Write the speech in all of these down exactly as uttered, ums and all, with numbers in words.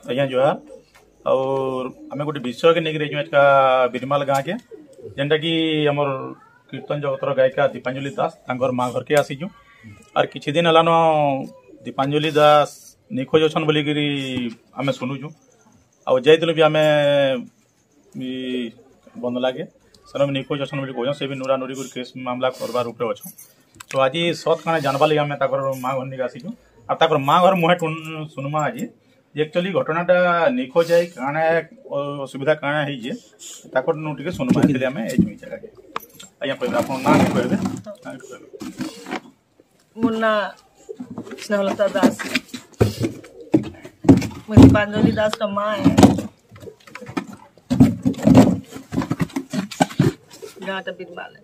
ଆଜ୍ଞା, ଜୁହାର। ଆଉ ଆମେ ଗୋଟେ ବିଷୟକେ ନେଇକିରି ଯାଇଛୁ ଏକା ବିରିମାଲ ଗାଁକେ, ଯେନ୍ଟାକି ଆମର କୀର୍ତ୍ତନ ଜଗତର ଗାୟିକା ଦୀପାଞ୍ଜଳି ଦାସ, ତାଙ୍କର ମା ଘରକେ ଆସିଛୁ। ଆର୍ କିଛି ଦିନ ହେଲାନ ଦୀପାଞ୍ଜଳି ଦାସ ନିଖୋଜ ଅଛନ୍ ବୋଲିକିରି ଆମେ ଶୁଣୁଛୁ। ଆଉ ଯାଇଥିଲୁ ବି ଆମେ ଇ ବନ୍ଦଲାକେ, ସେନ ବି ନିଖୋଜ ଅଛନ୍ ବୋଲି କହୁଛନ୍। ସେ ବି ନୁରା ନୁରି କରି କେସ୍ ମାମଲା କରବାର ଉପରେ ଅଛନ୍। ତ ଆଜି ସତ୍ କାଣା ଜାନବାର ଲାଗି ଆମେ ତାଙ୍କର ମା ଘର ନିକେ ଆସିଛୁ। ଆର୍ ତାଙ୍କର ମା ଘର ମୁହେଁ ଟୁନ୍ ଶୁନମା ଆଜି। ଯେ actually ଘଟଣାଟା ନିଖୋଜ ହେଇ କାଣା ଅ-, ଅସୁବିଧା କାଣା ହେଇଛେ, ତାଙ୍କର ନୁ ଟିକେ ଶୁନମା। Actually ଆମେ ଏଇ ଜାଗାକେ। ଆଜ୍ଞା, କହିବେ, ଆପଣ ନାଁ ବି କହିବେ। ନାଁ ବି କହିବେ। ମୋ ନାଁ ସ୍ନେହଲତା ଦାସ। ମୁଁ ଦୀପାଞ୍ଜଳି ଦାସର ମା ହେ। ଗାଁଟା ବିରମାଲ।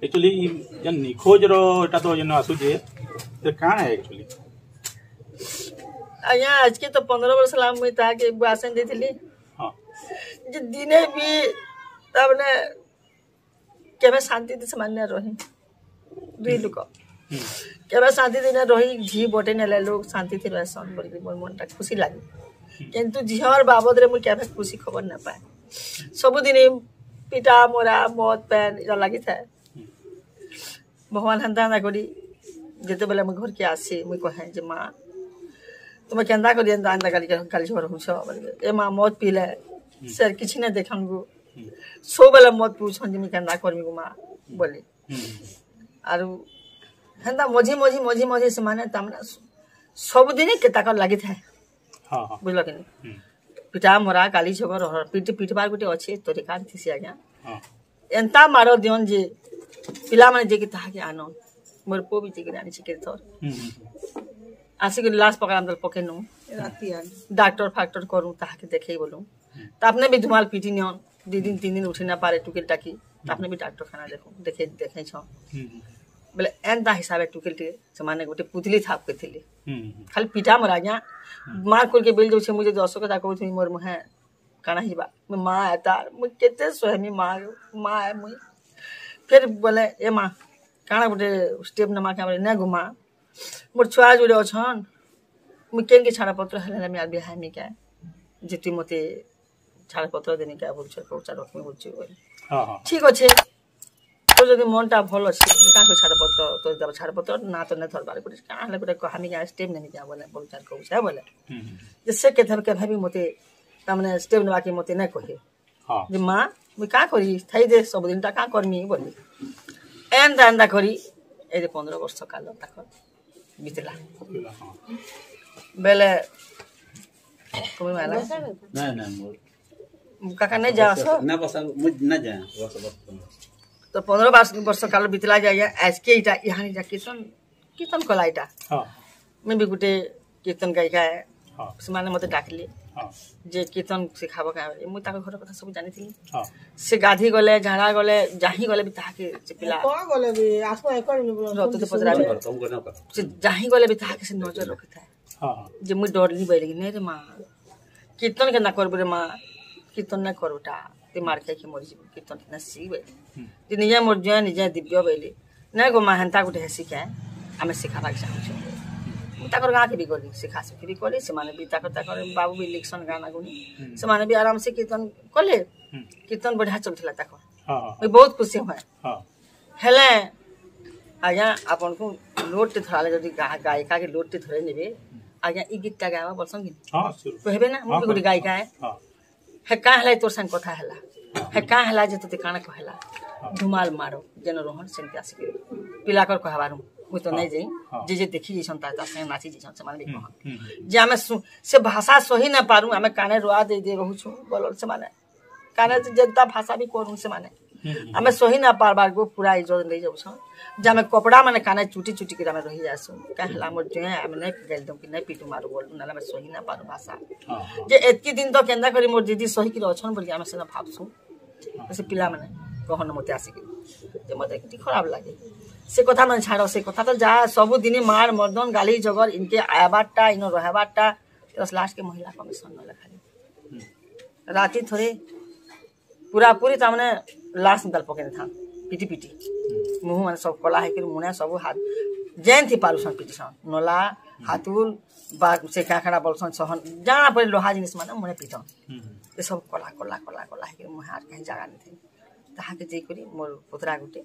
Actually, ଇ ଯେନ୍ ନିଖୋଜର ଏଟା ତ ଯେନ୍ ଆସୁଛେ, ସେ କାଣା actually? ଆଜ୍ଞା, ଆଜକେ ତ ପନ୍ଦର ବର୍ଷ ହେଲା ମୁଇଁ ତାହାକେ ବାସନ ଦେଇଥିଲି। ହଁ। ଯେ ଦିନେ ବି, ତାମାନେ, କେବେ ଶାନ୍ତି ଥି ସେମାନେ ନା ରହି। ଦୁଇ ଲୋକ। ହୁଁ। କେବେ ଶାନ୍ତି ଥି ନା ରହି, ଝି ବଟେ ନେଲେ ଲୋକ ଶାନ୍ତି ଥି ରହସନ୍, ବୋଲି ମୋର ମନଟା ଖୁସି ଲାଗେ। ହୁଁ। କିନ୍ତୁ ଝିଅର ବାବଦରେ ମୁଇଁ କେବେ ଖୁସି ଖବର ନା ପାଏ। ସବୁଦିନ ପିଟା, ମରା, ମଦ, ପେନ୍, ଏଟା ଲାଗିଥାଏ। ହୁଁ। ଭଗବାନ ହେନ୍ତା ହେନ୍ତା କରି, ଯେତେବେଳେ ମୁଇଁ ଘରକେ ଆସି, ମୁଇଁ କହେ ଯେ, "ମା, ତୁମେ କେନ୍ତା କରି ଏନ୍ତା, ଏନ୍ତା ଗାଲି, ଗାଲି ଝଗଡ଼ା ହଉଛ?" ବୋଲେ, "ଏ ମା, ମଦ ପିଇଲେ, ହୁଁ। ସେ କିଛି ନାଇଁ ଦେଖନ୍ ଗୋ।" ହୁଁ। ସବୁବେଳେ ମଦ ପିଉଛନ୍ ଯେ, "ମୁଇଁ କେନ୍ତା କରିମି ଗୋ ମା?" ହୁଁ। ବୋଲି। ହୁଁ। ଆରୁ ହେନ୍ତା ମଝି, ମଝି, ମଝି, ମଝି ସେମାନେ ତାମାନେ ସ-, ସବୁଦିନେ କେ ତାଙ୍କର ଲାଗିଥାଏ। ହଁ, ହଁ। ବୁଝିଲ କି ନାଇଁ? ହୁଁ। ପିଟା, ମରା, ଗାଲି, ଝଗଡ଼ା, ରହର, ପିଟି, ପିଟବାର ଗୋଟେ ଅଛି, ତରିକା ଥିସି ଆଜ୍ଞା। ହଁ। ଏନ୍ତା ମାଡ଼ ଦିଅନ୍ ଯେ ପିଲାମାନେ ଯେ କି ତାହାକେ ଆନନ୍। ମୋର ପୁଅ ବି ଯେ କି ଆଣିଛି କେତେ ଥର। ହୁଁ, ହୁଁ, ହୁଁ। ଆସିକି ଲାଶ ପକାଇଲା, ଆମେ ପକେଇ ନୁ। ରାତି ଆନ୍। ଡାକ୍ତର ଫାକ୍ତର କରୁ, ତାହାକେ ଦେଖେଇ ବୋଲୁ। ହୁଁ। ତାପନେ ବି ଧୁମାଲ ପିଟି ନିଅନ୍। ଦି ଦିନ, ତିନ ଦିନ ଉଠି ନା ପାରେ ଟୁକେଲ ଟାକି। ତାପନେ ବି ଡାକ୍ତରଖାନା ଦେଖୁ, ଦେଖେଇ, ଦେଖେଇଛନ୍। ହୁଁ, ହୁଁ। ବୋଲେ ଏନ୍ତା ହିସାବେ ଟୁକେଲ ଟେ ସେମାନେ ଗୋଟେ ପୁତଲି ଥାପ କରିଥିଲେ। ହୁଁ, ହୁଁ। ଖାଲି ପିଟା ମୋର ଆଜ୍ଞା। ହୁଁ। ମାର କୁଲ କେ ବେଲ ଯାଉଛେ, ମୁଇଁ ଯଦି ଅସ କଥା କହୁଥିବି, ମୋର ମୁହେଁ କାଣା ହେଇଯିବା? ମୁଇଁ ମା ଏ ତାର, ମୁଇଁ କେତେ ସହେମି ମା, ମା ଏ ମୁଇଁ। ଫେର ବୋଲେ, "ଏ ମା, କାଣା ଗୋଟେ ଷ୍ଟେପ ନେମା କେ?" ବୋଲେ, "ନେ ଗୋ ମା, ମୋର ଛୁଆ ଯୋଡ଼େ ଅଛନ୍, ମୁଇଁ କେନକେ ଛାଡ଼ପତ୍ର ହେଲେ ହେଲେ ମୁଇଁ ଆର ବିହା ହେମି କେ, ଯେ ତୁଇ ମତେ ଛାଡ଼ପତ୍ର ଦେମି କେ, ବୁଲୁଛେ, ପଇସା ରଖମି ବୁଲୁଛେ," ବୋଲେ। ହଁ, ହଁ। "ଠିକ ଅଛେ, ତୋ ଯଦି ମନଟା ଭଲ ଅଛେ, ମୁଇଁ କାଁ କରି ଛାଡ଼ପତ୍ର, ତୋ ଦେବ ଛାଡ଼ପତ୍ର, ନା ତ ନେ ଧରବାର, ଗୋଟେ କାଁ ହେଲେ ଗୋଟେ କହାମି କେ, ଷ୍ଟେପ ନେମି କେ," ବୋଲେ, ପଇସା କହୁଛେ, ବୋଲେ। ହୁଁ, ହୁଁ। ଯେ ସେ କେବେ, କେବେ ବି ମତେ, ତାମାନେ ଷ୍ଟେପ ନେବାକେ ମତେ ନାଇଁ କହେ। ହଁ। ଯେ, "ମା, ମୁଇଁ କାଁ କରି, ଥାଇ ଦେ, ସବୁଦିନଟା କାଁ କରମି?" ବୋଲି। ଏନ୍ତା, ଏନ୍ତା କରି, ଏଇ ଯେ ପନ୍ଦର ବର୍ଷ କାଲ ତାକର ବିତଲା। ବିତଲା, ହଁ। ବେଲେ, କମି ମାଇଲା। ନାଇଁ, ନାଇଁ, ମୋର କାକା ନାଇଁ ଯାଅ, ଆସ। ନା, ବସ, ମୁଁ ନା ଯାଏ, ବସ, ବସ। ତ ପନ୍ଦର ବାର ବର୍ଷ କାଲ ବିତଲା ଯାଏ, ଆଜକେ ଇଟା, ଇହାନି ଯା କୀର୍ତ୍ତନ, କୀର୍ତ୍ତନ କଲା ଇଟା। ହଁ। ମୁଇଁ ବି ଗୋଟେ କୀର୍ତ୍ତନ ଗାୟିକା ହେ। ହଁ। ସେମାନେ ମତେ ଡାକଲେ। ହଁ। ଯେ କୀର୍ତ୍ତନ ଶିଖାବ କା? ମୁଇଁ ତାଙ୍କ ଘର କଥା ସବୁ ଜାଣିଥିଲି। ହଁ। ସେ ଗାଧି ଗଲେ, ଝାଡ଼ା ଗଲେ, ଯାହିଁ ଗଲେ ବି ତାହାକେ ସେ ପିଲା କଣ ଗଲେ ବି, ଆସ, ଏ କଣ ବି, ରତ ତ ପଚରା ବି। ତମ ଘର, ତମ ଘର। ସେ ଯାହିଁ ଗଲେ ବି ତାହାକେ ସେ ନଜର ରଖିଥାଏ। ହଁ, ହଁ। ଯେ ମୁଇଁ ଡରଲି ବୋଇଲି, "ନାଇଁ ରେ ମା, କୀର୍ତ୍ତନ କେନ୍ତା କରବୁ ରେ ମା? କୀର୍ତ୍ତନ ନାଇଁ କରଟା, ତେ ମାର ଖାଇକି ମରିଯିବୁ, କୀର୍ତ୍ତନ କେନ୍ତା ଶିଖ?" ବୋଇଲି। ହୁଁ। ଯେ ନିଜେ ମୋର ଜୁଆଁ, ନିଜେ ଦିବ୍ୟ ବୋଇଲି। "ନାଇଁ ଗୋ ମା, ହେନ୍ତା ଗୋଟେ ହେସି କେ, ଆମେ ଶିଖାବାକେ ଚାହୁଁଛୁ।" ମୁଁ ତାଙ୍କର ଗାଁକେ ବି ଗଲି, ଶିଖା ଶିଖି ବି କଲି, ସେମାନେ ବି ତାଙ୍କର, ତାଙ୍କର ବାବୁ ବି ଲେଖସନ୍ ଗାନା ଗୁନି। ହୁଁ। ସେମାନେ ବି ଆରାମସେ କୀର୍ତ୍ତନ କଲେ। ହୁଁ। କୀର୍ତ୍ତନ ବଢ଼ିଆ ଚାଲୁଥିଲା ତାଙ୍କର। ହଁ, ହଁ। ମୁଇଁ ବହୁତ ଖୁସି ହୁଏ। ହଁ। ହେଲେ ଆଜ୍ଞା, ଆପଣଙ୍କୁ ଲୋଡ ଟେ ଧରାଲେ, ଯଦି ଗା-, ଗାୟିକା କେ ଲୋଡ ଟେ ଧରେଇ ନେବେ, ଆଜ୍ଞା, ଇ ଗୀତଟା ଗାଇବା ବୋଲସନ୍ କି? ହଁ, sure। କହିବେ ନା, ମୁଁ ହଁ, ବି ଗୋଟେ ହଁ, ଗାୟିକା ହେ। ହଁ। ହେ କାଁ ହେଲା, ତୋର ସାଙ୍ଗେ କଥା ହେଲା। ହେ କାଁ ହେଲା ଯେ ତୋତେ କାଣା କହେଲା? ହଁ। ଧୁମାଲ ମାର, ଯେନ ରହନ ସେମିତି ଆସିକି। ପିଲାକର କହବାରୁ, ମୁଇଁ ତ ହଁ, ନାଇଁ ଯାଇ, ହଁ। ଯେ ଯେ ଦେଖି ଯାଇଛନ୍, ତା, ତା ସାଙ୍ଗେ ନାଚି ଯାଇଛନ୍, ସେମାନେ ବି ହୁଁ, କହନ୍। ହୁଁ, ହୁଁ। ଯେ ଆମେ ସୁ-, ସେ ଭାଷା ସହି ନା ପାରୁ, ଆମେ କାନେ ରୁଆ ଦେଇ ଦେଇ ରହୁଛୁ, ବୋଲନ୍ ସେମାନେ। କାନେ ଯେନ୍ତା ଭାଷା ବି କରୁନ୍ ସେମାନେ। ହୁଁ, ହୁଁ। ଆମେ ସହି ନା ପାରବାର ଗୋ, ପୁରା ଇଜ୍ଜତ ନେଇ ଯାଉଛନ୍। ଯେ ଆମେ କପଡ଼ା ମାନେ କାନେ ଚୁଟି ଚୁଟି କରି ଆମେ ରହି ଯାଉଛନ୍। କାଁ ହେଲା, ଆମର ଜୁଆଁ, ଆମେ ନାଇଁ ଗାଇଲୁଁ କି ନାଇଁ ପିଟୁ ମାରୁ ବୋଲୁଁ, ନହେଲେ ଆମେ ସହି ନା ପାରୁ ଭାଷା। ହଁ, ହଁ। ଯେ ଏତକି ଦିନ ତ କେନ୍ତା କରି ମୋର ଦିଦି ସହିକିରି ଅଛନ୍ ବୋଲି ଆମେ ସେଟା ଭାବସୁଁ। ହଁ। ସେ ପିଲାମାନେ କହନ୍ ମତେ ଆସିକି। ଯେ ମତେ ଟିକେ ଖରାପ ଲାଗେ। ସେ କଥା ମାନେ ଛାଡ଼, ସେ କଥା ତ ଯାହା ସବୁ ଦିନ ମାର, ମର୍ଦନ, ଗାଲି, ଜଗର, ଇନକେ ଆଇବାରଟା, ଇନ ରହିବାରଟା, ତ ଲାଷ୍ଟ କେ ମହିଳା କମିଶନ ନହେଲେ ଖାଲି। ହୁଁ। ରାତି ଥରେ ପୁରାପୁରି ତାମାନେ ଲାସ ନିତାଲ ପକେଇ ଦେଇଥାନ୍, ପିଟି ପିଟି। ହୁଁ। ମୁହଁ ମାନେ ସବୁ କଲା ହେଇକରି, ମୁନେ ସବୁ ହାତ, ଯେନ୍ ଥି ପାରୁଛନ୍ ପିଟିଛନ୍। ନଲା, ହାତୁଲ, ବା ସେ କାଁ କାଣା ବୋଲସନ୍ ସହନ, ଜାଣା ପଡେ ଲୋହା ଜିନିଷ ମାନେ ମୁହଁରେ ପିଟନ୍। ହୁଁ, ହୁଁ। ଏସବୁ କଲା, କଲା, କଲା, କଲା ହେଇକରି ମୁହଁ ଆର୍ କାହିଁ ଜାଗା ନି ଥାଇ। ତାହାକେ ଯାଇକରି ମୋର ପୁତୁରା ଗୋଟେ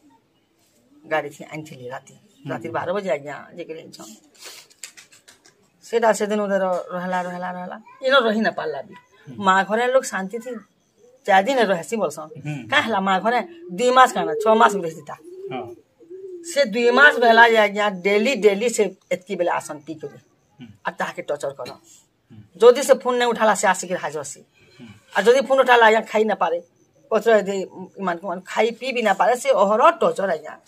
ଗାଡି ଥି ଆଣିଥିଲି ରାତି। ହୁଁ, ରାତି ହୁଁ। ବାର ବଜେ ଆଜ୍ଞା, ଯାଇକରି ଆଣିଛନ୍। ସେଟା ସେଦିନ ଧର ରହଲା, ରହଲା, ରହଲା। ଇନ ରହି ନା ପାରିଲା ବି। ହୁଁ। ମା ଘରେ ଲୋକ ଶାନ୍ତି ଥି ଚାରି ଦିନ ରହେସି ବୋଲସନ୍। ହୁଁ। କାଁ ହେଲା ମା ଘରେ? ଦୁଇ ମାସ କାଣା, ଛଅ ମାସ ବି ରହିଥିତା। ହଁ। ସେ ଦୁଇ ମାସ ହେଲା ଯେ ଆଜ୍ଞା, ଡେଲି, ଡେଲି ସେ ଏତକି ବେଲେ ଆସନ୍ ପିଇକରି। ହୁଁ। ଆର୍ ତାହାକେ ଟର୍ଚର କରନ୍। ହୁଁ। ଯଦି ସେ ଫୋନ ନାଇଁ ଉଠାଲା, ସେ ଆସିକରି ହାଜର ସି। ହୁଁ। ଆର୍ ଯଦି ଫୋନ ଉଠାଲା, ଆଜ୍ଞା, ଖାଇ ନା ପାରେ। ପଚର ଯଦି ଇମାନଙ୍କୁ ମାନେ ଖାଇ ପିଇ ବି ନା ପାରେ, ସେ ଅହରହ ଟର୍ଚର ଆଜ୍ଞା।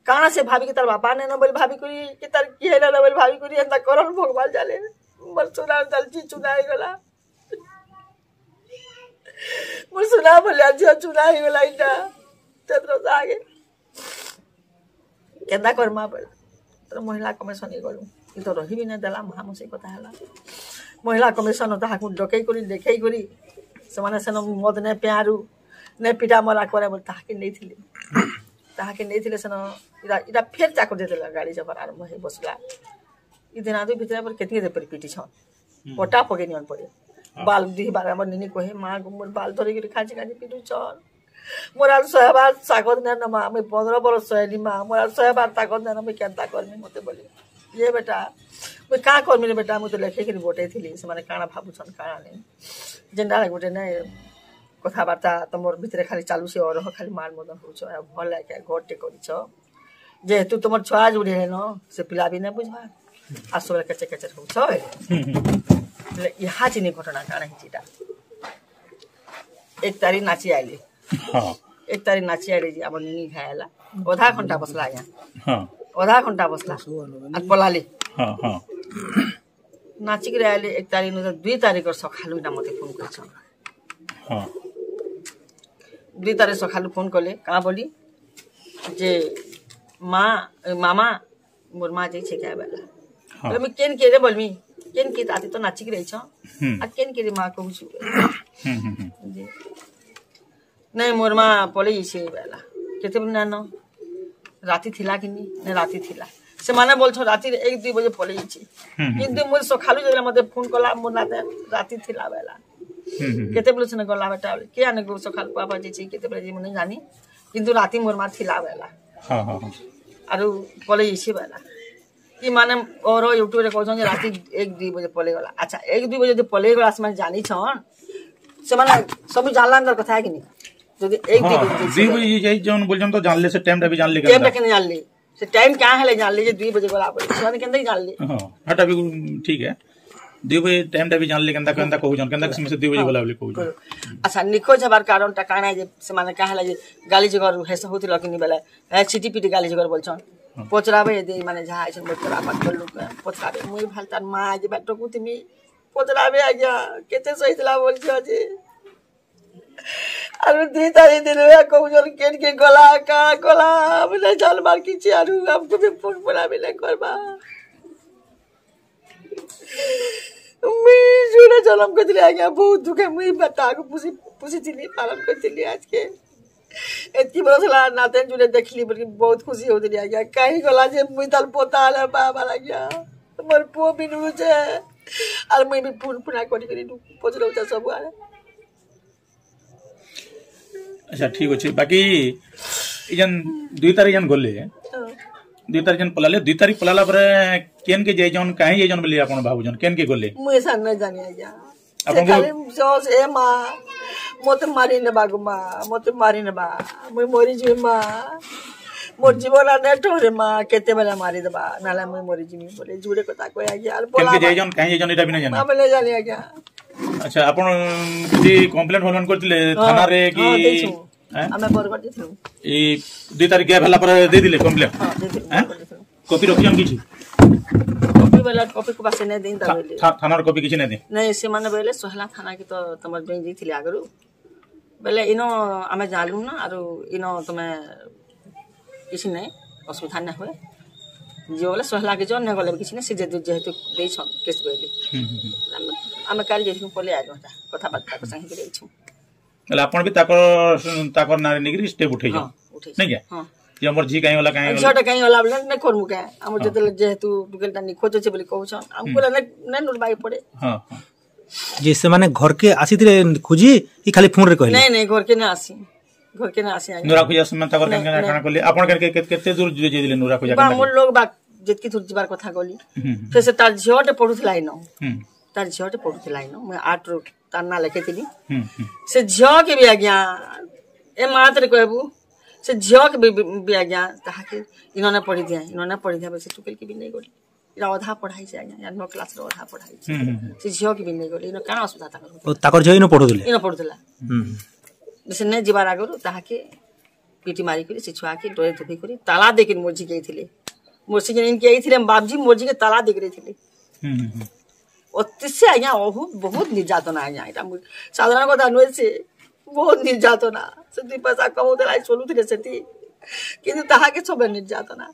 କାଣା ସେ ଭାବିକି ତାର ବାପା ନେନ ବୋଲି ଭାବିକରି, କି ତାର କିଏ ନେନ ବୋଲି ଭାବିକରି, ଏନ୍ତା କରନ୍ ଭଗବାନ ଜାନେ। ମୋର ସୁନା ଚାଲିଛି, ଚୁନା ହେଇଗଲା। ମୋର ସୁନା ଭଳିଆ ଝିଅ ଚୁନା ହେଇଗଲା ଇଟା। ଚନ୍ଦ୍ର ସାଙ୍ଗେ। କେନ୍ତା କରମା ବୋଲେ? ତୋର ମହିଳା କମିଶନ ଇଏ ଗଲୁ। ଇ ତ ରହିବି ନାଇଁ ଦେଲା, ମହା ମୁସେ କଥା ହେଲା। ମହିଳା କମିଶନ ତାହାକୁ ଡକେଇ କରି, ଦେଖେଇ କରି, ସେମାନେ ସେନ ମଦ ନେ ପିଆରୁ, ନେ ପିଟା ମରା କରେ ବୋଲି ତାହାକେ ନେଇଥିଲେ। ତାହାକେ ନେଇଥିଲେ ସେନ, ଇଟା, ଇଟା ଫେର ଚାକର ଦେଇଦେଲା, ଗାଡି ଜବର ଆରମ୍ଭ ହେଇ ବସିଲା। ଇ ଦିନ ଆଦୁ ଭିତରେ ପରେ କେତକି ଦେ ପିଟିଛନ୍। ହୁଁ। ପଟା ପକେଇ ନିଅନ୍ ପଡେ। ହଁ। ବାଲ ଦି ବାର ଆମର ନିନି କହେ, "ମା ଗୋ, ମୋର ବାଲ ଧରିକିରି ଖାଜି ଖାଜି ପିଟୁଛନ୍। ମୋର ଆଉ ସହେବାର ତାକତ ନାଇନ ମା, ମୁଇଁ ପନ୍ଦର ବରଷ ସହେଲି ମା, ମୋର ଆଉ ସହେବାର ତାକତ ନାଇନ, ମୁଇଁ କେନ୍ତା କରମି ମତେ?" ବୋଲି। ଇଏ ବେଟା, ମୁଇଁ କାଁ କରମି ରେ ବେଟା, ମୁଇଁ ତ ଲେଖେଇକିରି ବଟେଇଥିଲି, ସେମାନେ କାଣା ଭାବୁଛନ୍, କାଣା ନାଇଁ। ଯେନ୍ତା ଗୋଟେ ନାଇଁ, କଥାବାର୍ତ୍ତା ତମର ଭିତରେ ଖାଲି ଚାଲୁଛେ, ଅରହ ଖାଲି ମାର ମଦନ ହଉଛ, ଆଉ ଭଲ ଲାଗେ, ଘରଟେ କରିଛ। ଯେହେତୁ ତମର ଛୁଆ ଯୋଉଠି ହେନ, ସେ ପିଲା ବି ନାଇଁ ବୁଝବା। ଆସ ବେଲେ କେଚେ କେଚେ ହଉଛ, ଏ। ହୁଁ, ହୁଁ। ହେଲେ ଇହା ଚିନି ଘଟଣା କାଣା ହେଇଛି ଇଟା? ଏକ ତାରିଖ ନାଚି ଆଇଲି। ହଁ। ଏକ ତାରିଖ ନାଚି ଆଇଲି ଯେ ଆମର ନିନି ଘାଏ ହେଲା। ଅଧା ଘଣ୍ଟା ବସଲା ଆଜ୍ଞା। ହଁ। ଅଧା ଘଣ୍ଟା ବସଲା। ଆର୍ ପଲାଲି। ହଁ, ହଁ। ନାଚିକିରି ଆଇଲି ଏକ ତାରିଖ ନୁ, ଦୁଇ ତାରିଖର ସକାଳୁ ଇଟା ମତେ ଫୋନ କରିଛନ୍। ହଁ। ଦୁଇ ତାରିଖ ସକାଳୁ ଫୋନ କଲେ, କାଁ ବୋଲି? ଯେ, "ମା, ଏ, ମାମା, ମୋର ମା ଯାଇଛେ କେ ବେଲା।" ହଁ। ବୋଲେ, "ମୁଇଁ କେନ୍ କେ ରେ?" ବୋଲମି। "କେନ୍ କେ? ତାତେ ତ ନାଚିକିରି ଆଇଛ। ହୁଁ। ଆର୍ କେନ୍ କେ ରେ ମା କହୁଛୁ?" ହୁଁ, ହୁଁ, ହୁଁ। ଯେ, "ନାଇଁ, ମୋର ମା ପଲେଇ ଯାଇଛି ବେଲା।" "କେତେବେଳେ ନାନ?" "ରାତି ଥିଲା କି ନି?" "ନାଇଁ, ରାତି ଥିଲା।" "ସେମାନେ ବୋଲଛନ୍ ରାତିରେ ଏକ, ଦୁଇ ବଜେ ପଲେଇ ଯାଇଛି।" ହୁଁ, ହୁଁ, କିନ୍ତୁ ହୁଁ। ମୁଁ ସକାଳୁ ଯେତେବେଳେ ମତେ ଫୋନ କଲା, ମୋର ନାତେ ରାତି ଥିଲା ବେଲା। ହୁଁ, ହୁଁ, ହୁଁ। "କେତେବେଳେ ସେନେ ଗଲା ବେଟା?" "କେ ଆନେ ଗୋ ସକାଳ କୁଆ ବାଜେ ଛି, କେତେବେଳେ ଯେ ମୁଁ ନାଇଁ ଜାନି। କିନ୍ତୁ ରାତି ମୋର ମା ଥିଲା ବେଲା।" ହଁ, ହଁ, ହଁ। "ଆରୁ ପଲେଇ ଯାଇଛି ବେଲା।" କି ମାନେ ଓର YouTube ରେ କହୁଛନ୍ ଯେ ରାତି ଏକ, ଦୁଇ ବଜେ ପଲେଇ ଗଲା। ଆଚ୍ଛା, ଏକ, ଦୁଇ ବଜେ ଯଦି ପଲେଇ ଗଲା, ସେମାନେ ଜାନିଛନ୍, ସେମାନେ ସବୁ ଜାଣିଲା ଏନ୍ତା କଥା କି ନି? ଯଦି ଏକ, ଦୁଇ ହଁ, ବଜେ ଦୁଇ ବଜେ ଯାଇ ଜଣ ବୋଲଛନ୍ ତ ଜାଣିଲେ, ସେ ଟାଇମ ଟା ବି ଜାଣିଲେ ଟାଇମ ଟା କେନ୍ତା? କେନ୍ତା ଜାଣିଲେ? ସେ ଟାଇମ କାଁ ହେଲେ ଜାଣିଲେ ଯେ ଦୁଇ ବଜେ ଗଲା ବୋଲି? ସେମାନେ କେନ୍ତା ଜାଣିଲେ? ହଁ, ହେଟା ବି ଠିକ ହେ। ଦୁଇ ବଜେ ଟାଇମ ଟା ବି ଜାଣିଲେ କେନ୍ତା, କେନ୍ତା କହୁଛନ୍, କେନ୍ତା କିସମ ସେ ଦୁଇ ବଜେ ହଁ। ଗଲା ବୋଲି କହୁଛନ୍। ଆଚ୍ଛା, ନିଖୋଜ ହେବାର କାରଣ ଟା କାଣା ଯେ ସେମାନେ କାଁ ହେଲା ଯେ ଗାଲି ଜଗର ହେସ ହଉଥିଲ କି ନି ବେଲେ? ଏ, ଚିଟି ପିଟି ଗାଲି ଜଗର ବୋଲଛନ୍। ହଁ। ପଚରାବେ ଯଦି ମାନେ ଯାହା ଆଇଛନ୍, ମୋର ପଚରାବେ, ପଚରାବେ। ମୁଇଁ ଭାଲ ତାର ମା ଆଜି ବା ଟକୁଥିମି। ପଚରାବେ ଆଜ୍ଞା, କେତେ ସହିଥିଲା ବୋଲଛ ଆଜି। ଆରୁ ଦୁଇ ତାରିଖ ଦିନ ବେ କହୁଛନ୍, କେନ୍ କେ ଗଲା, କାଣା କଲା, ଆମେ ନାଇଁ ଜାନବାର କିଛି, ଆରୁ ଆମକୁ ବି ଫୋନ ଫୋନ ଆମେ ନାଇଁ କରବା। ମୁଇଁ ଜୁଡ଼େ ଜଲମ କରିଥିଲି ଆଜ୍ଞା, ବହୁତ ଦୁଃଖେ ମୁଇଁ ବା ତାକୁ ପୁଷି, ପୁଷିଥିଲି, ପାଳନ କରିଥିଲି ଆଜକେ। ଏତକି ବରଷ ହେଲା ନାତେନ ଜୁଡ଼େ ଦେଖିଲି ବୋଲି ବହୁତ ଖୁସି ହଉଥିଲି ଆଜ୍ଞା। କାହିଁ ଗଲା ଯେ ମୁଇଁ ତାର ପୋତା ହେଲେ ବାବା ଆଜ୍ଞା। ମୋର ପୁଅ ବି ନୁହେଁ ଯେ, ଆର୍ ମୁଇଁ ବି ଫୁନ ଫୁନା କରି କରି ପଚରଉଛେ ସବୁଆଡ଼େ। ଆଚ୍ଛା, ଠିକ୍ ଅଛି। ବାକି ଇ ଯେନ୍ ଦୁଇ ତାରିଖ ଯେନ୍ ଗଲେ, ହଁ। ଦୁଇ ତାରିଖ ଯେନ୍ ପଲାଲେ, ଦୁଇ ତାରିଖ ପଲାଲା ପରେ କେନ୍ କେ ଯାଇଛନ୍, କାହିଁ ଯାଇଛନ୍ ବୋଲି ଆପଣ ଭାବୁଛନ୍? କେନ୍ କେ ଗଲେ? ମୁଇଁ ଏସା ନାଇଁ ଜାନି ଆଜ୍ଞା। ସେ ଆପଣଙ୍କୁ ଖାଲି ଜଷ୍ଟ, "ଏ ମା, ମତେ ମାରି ନେବା ଗୋ ମା, ମତେ ମାରି ନେବା, ମୁଇଁ ମରିଯିବି ମା, ମୋର ଜୀବନ ଆ ନେଟ ରେ ମା, କେତେବେଳେ ମାରିଦେବା, ନାଲେ ମୁଇଁ ମରିଯିବି" ବୋଲି ଜୁଡ଼େ କଥା କହେ ଆଜ୍ଞା। ଆର୍ କେନ୍ କେ ପଲାବା। ଯାଇଛନ୍, କାହିଁ ଯାଇଛନ୍, ଏଇଟା ବି ନାଇଁ ଜାନି? ଆମେ ନାଇଁ ଜାନି ଆଜ୍ଞା। ଆଚ୍ଛା, ଆପଣ କିଛି କମ୍ପ୍ଲେନ ଫମ୍ପ୍ଲେନ କରିଥିଲେ ହଁ, ଥାନାରେ କି? ହଁ, ଦେଇଛୁ। ଆଁ? ଆମେ ବରଗଡ଼ ଦେଇଥିଲୁ। ଏଇ ଦୁଇ ତାରିଖ ଗ୍ୟାପ ହେଲା ପରେ ଦେଇଥିଲେ କମ୍ପ୍ଲେନ? ହଁ, ଦେଇଥିଲୁ, ଆଁ? ବରଗଡ଼ ଦେଇଥିଲୁ। କପି ରଖିଛନ୍ କିଛି? କପି ବେଲେ, କପି କୁ ବାସେ ନାଇଁ ଦେଇ ତା ଥା-, ବେଲେ। ଥା-, ଥାନାର କପି କିଛି ନାଇଁ ଦେଇ? ନାଇଁ, ସେମାନେ ବେଲେ ସୋହେଲା ଥାନା କି ତ ତମର ଜଣେ ଯାଇଥିଲେ ଆଗରୁ। ବେଲେ ଇନ ଆମେ ଜାଣିଲୁ ନା, ଆରୁ ଇନ ତମେ କିଛି ନାଇଁ, ଅସୁବିଧା ନାଇଁ ହୁଏ। ଯିବ ବେଲେ ସୋହେଲା କି ଜଣ ନାଇଁ ଗଲେ ବି କିଛି ନାଇଁ, ସେ ଯେହେତୁ, ଯେହେତୁ ଦେଇଛନ୍ କେସ ବେଲେ। ହୁଁ, ହୁଁ, ହୁଁ। ଆମେ, ଆମେ କାଲି ଯାଇଥିଲୁ, ପଲେଇ ଆଇଲୁ, ଏଟା କଥାବାର୍ତ୍ତା କରି ସାଙ୍ଗେ କରି ଯାଇଛୁ। ହେଲେ ଆପଣ ବି ତାକର, ତାକର ନାଁରେ ନେଇକିରି ଷ୍ଟେପ ଉଠେଇଛନ୍? ହଁ, ଉଠେଇଛୁ। ନାଇଁ କି? ହଁ। ଯେ ଆମର ଝି କାହିଁ ଗଲା, କାହିଁ ଗଲା? ଝିଅଟା କାହିଁ ଗଲା ବୋଲେ ନାଇଁ କରମୁ କାଁ। ଆମର ଯେତେବେଳେ ଯେହେତୁ ଟୁକେଲଟା ନିଖୋଜ ଅଛେ ବୋଲି କହୁଛନ୍, ଆମକୁ ହୁଁ। ବୋଲେ ନାଇଁ, ନାଇଁ ନୁରବାଇ ପଡେ। ହଁ, ହଁ। ଯେ ସେମାନେ ଘରକେ ଆସିଥିଲେ ଖୋଜି କି ଖାଲି ଫୋନରେ କହିଲେ? ନାଇଁ, ନାଇଁ, ଘରକେ ନାଇଁ ଆସି। ଘରକେ ନାଇଁ ଆସି ଆଜ୍ଞା। ନୁରା ଖୋଜା ସେମାନେ ତାଙ୍କର ନାଇଁ, କେନ୍ କେନ୍ ନାଇଁ। କାଣା କଲେ? ଆପଣ କେନ୍ କେ-, କେ-, କେତେ ଦୂର ଯିବେ, ଯାଇଥିଲେ ନୁରା ଖୋଜା ବା କେନ୍ତା ଆମର କଲେ? ଲୋକ ବା ଯେତକି ଦୂର ଯିବାର କଥା ଗଲି। ହୁଁ, ହୁଁ। ଫେର ସେ ତାର ଝିଅଟେ ପଢୁଥିଲା ଇନ। ହୁଁ। ତାର ଝିଅଟେ ପଢୁଥିଲା ଇନ। ମୁଁ ଆଠ ରୁ ତାର ନାଁ ଲେଖେଇଥିଲି। ହୁଁ, ହୁଁ। ସେ ଝିଅକେ ବି ଆଜ୍ଞା, ଏ ମାତରେ କହିବୁ, ସେ ଝିଅକେ ବି, ବି, ବି ଆଜ୍ଞା, ତାହାକେ ଇନନେ ପଢି ଦିଆ, ଇନନେ ପଢି ଦିଆ, ସେ ଟୁକେଲକେ ବି ନେଇ ଗଲି। ଇଟା ଅଧା ପଢାଇଛେ ଆଜ୍ଞା, ୟା ନଅ କ୍ଲାସର ଅଧା ପଢାଇଛେ। ହୁଁ, ହୁଁ, ହୁଁ। ସେ ଝିଅକେ ବି ନେଇ ଗଲେ, ଇନ କାଣା ଅସୁବିଧା ତାଙ୍କର? ଓ, ତାଙ୍କର ଝିଅ ଇନ ପଢୁଥିଲେ? ଇନ ପଢୁଥିଲା। ହୁଁ, ହୁଁ। ସେ ନେଇ ଯିବାର ଆଗରୁ ତାହାକେ ପିଟି ମାରିକରି, ସେ ଛୁଆକେ ଡରେ ଧପି କରି, ତାଲା ଦେଇକରି ମୋର ଝିକେ ଆଇଥିଲେ। ମୋର ଝିକେ ଇନକେ ଆଇଥିଲେ, ବାପଝି ମୋର ଝିକେ ତାଲା ଦେଇକରି ଆଇଥିଲେ। ହୁଁ, ହୁଁ, ହୁଁ। ଅତି ସେ ଆଜ୍ଞା, ଅହୁ, ବହୁତ ନିର୍ଯାତନା ଆଜ୍ଞା, ଇଟା ମୁଁ ସାଧାରଣ କଥା ନୁହେଁ ସେ, ବହୁତ ନିର୍ଯାତନା। ସେ ଦି ପଇସା କମଉଥିଲା, ଚଲୁଥିଲେ ସେଠି। କିନ୍ତୁ ତାହାକେ ସବେ ନିର୍ଯାତନା।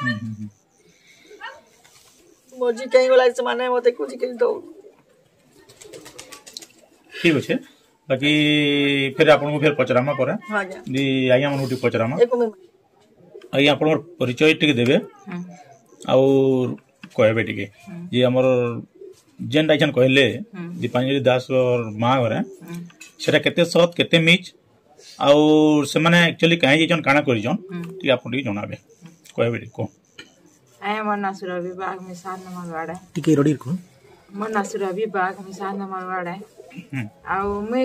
ହୁଁ, ହୁଁ, ହୁଁ। ମୋର ଝି କେଁ ଗଲା, ସେମାନେ ମତେ ଖୋଜି କରି ଦଉନ୍। ଠିକ୍ ଅଛେ। ବାକି ଫେର ଆପଣଙ୍କୁ ଫେର ପଚରାମା ପରେ। ହଁ, ଆଜ୍ଞା। ଦି ଆଜ୍ଞା ମାନଙ୍କୁ ଟିକେ ପଚରାମା। ଏକ ମିନିଟ୍। ଆଜ୍ଞା, ଆପଣଙ୍କର ପରିଚୟ ଟିକେ ଦେବେ। ହୁଁ। ଆଉ କହିବେ ଟିକେ ହୁଁ। ଯେ ଆମର ଯେନ୍ଟା ଏଛନ୍ କହିଲେ ହୁଁ। ଦୀପାଞ୍ଜଳି ଦାସର ମା ଘରେ, ହୁଁ। ସେଟା କେତେ ସତ୍, କେତେ ମିଛ, ଆଉ ସେମାନେ actually କାହିଁ ଯାଇଛନ୍, କାଣା କରିଛନ୍, ହୁଁ। ଟିକେ ଆପଣ ଟିକେ ଜଣାବେ। କହିବେ ଟିକେ, କୁହ। ଆଏ, ମୋର ନାଁ ସୁରଭି ବାଗ, ମୁଇଁ ସାତ ନମ୍ବର ୱାର୍ଡ। ଟିକେ ରଡି କୁହ। ମୋର ନାଁ ସୁରଭି ବାଗ, ମୁଇଁ ସାତ ନମ୍ବର ୱାର୍ଡ। ହୁଁ। ଆଉ ମୁଇଁ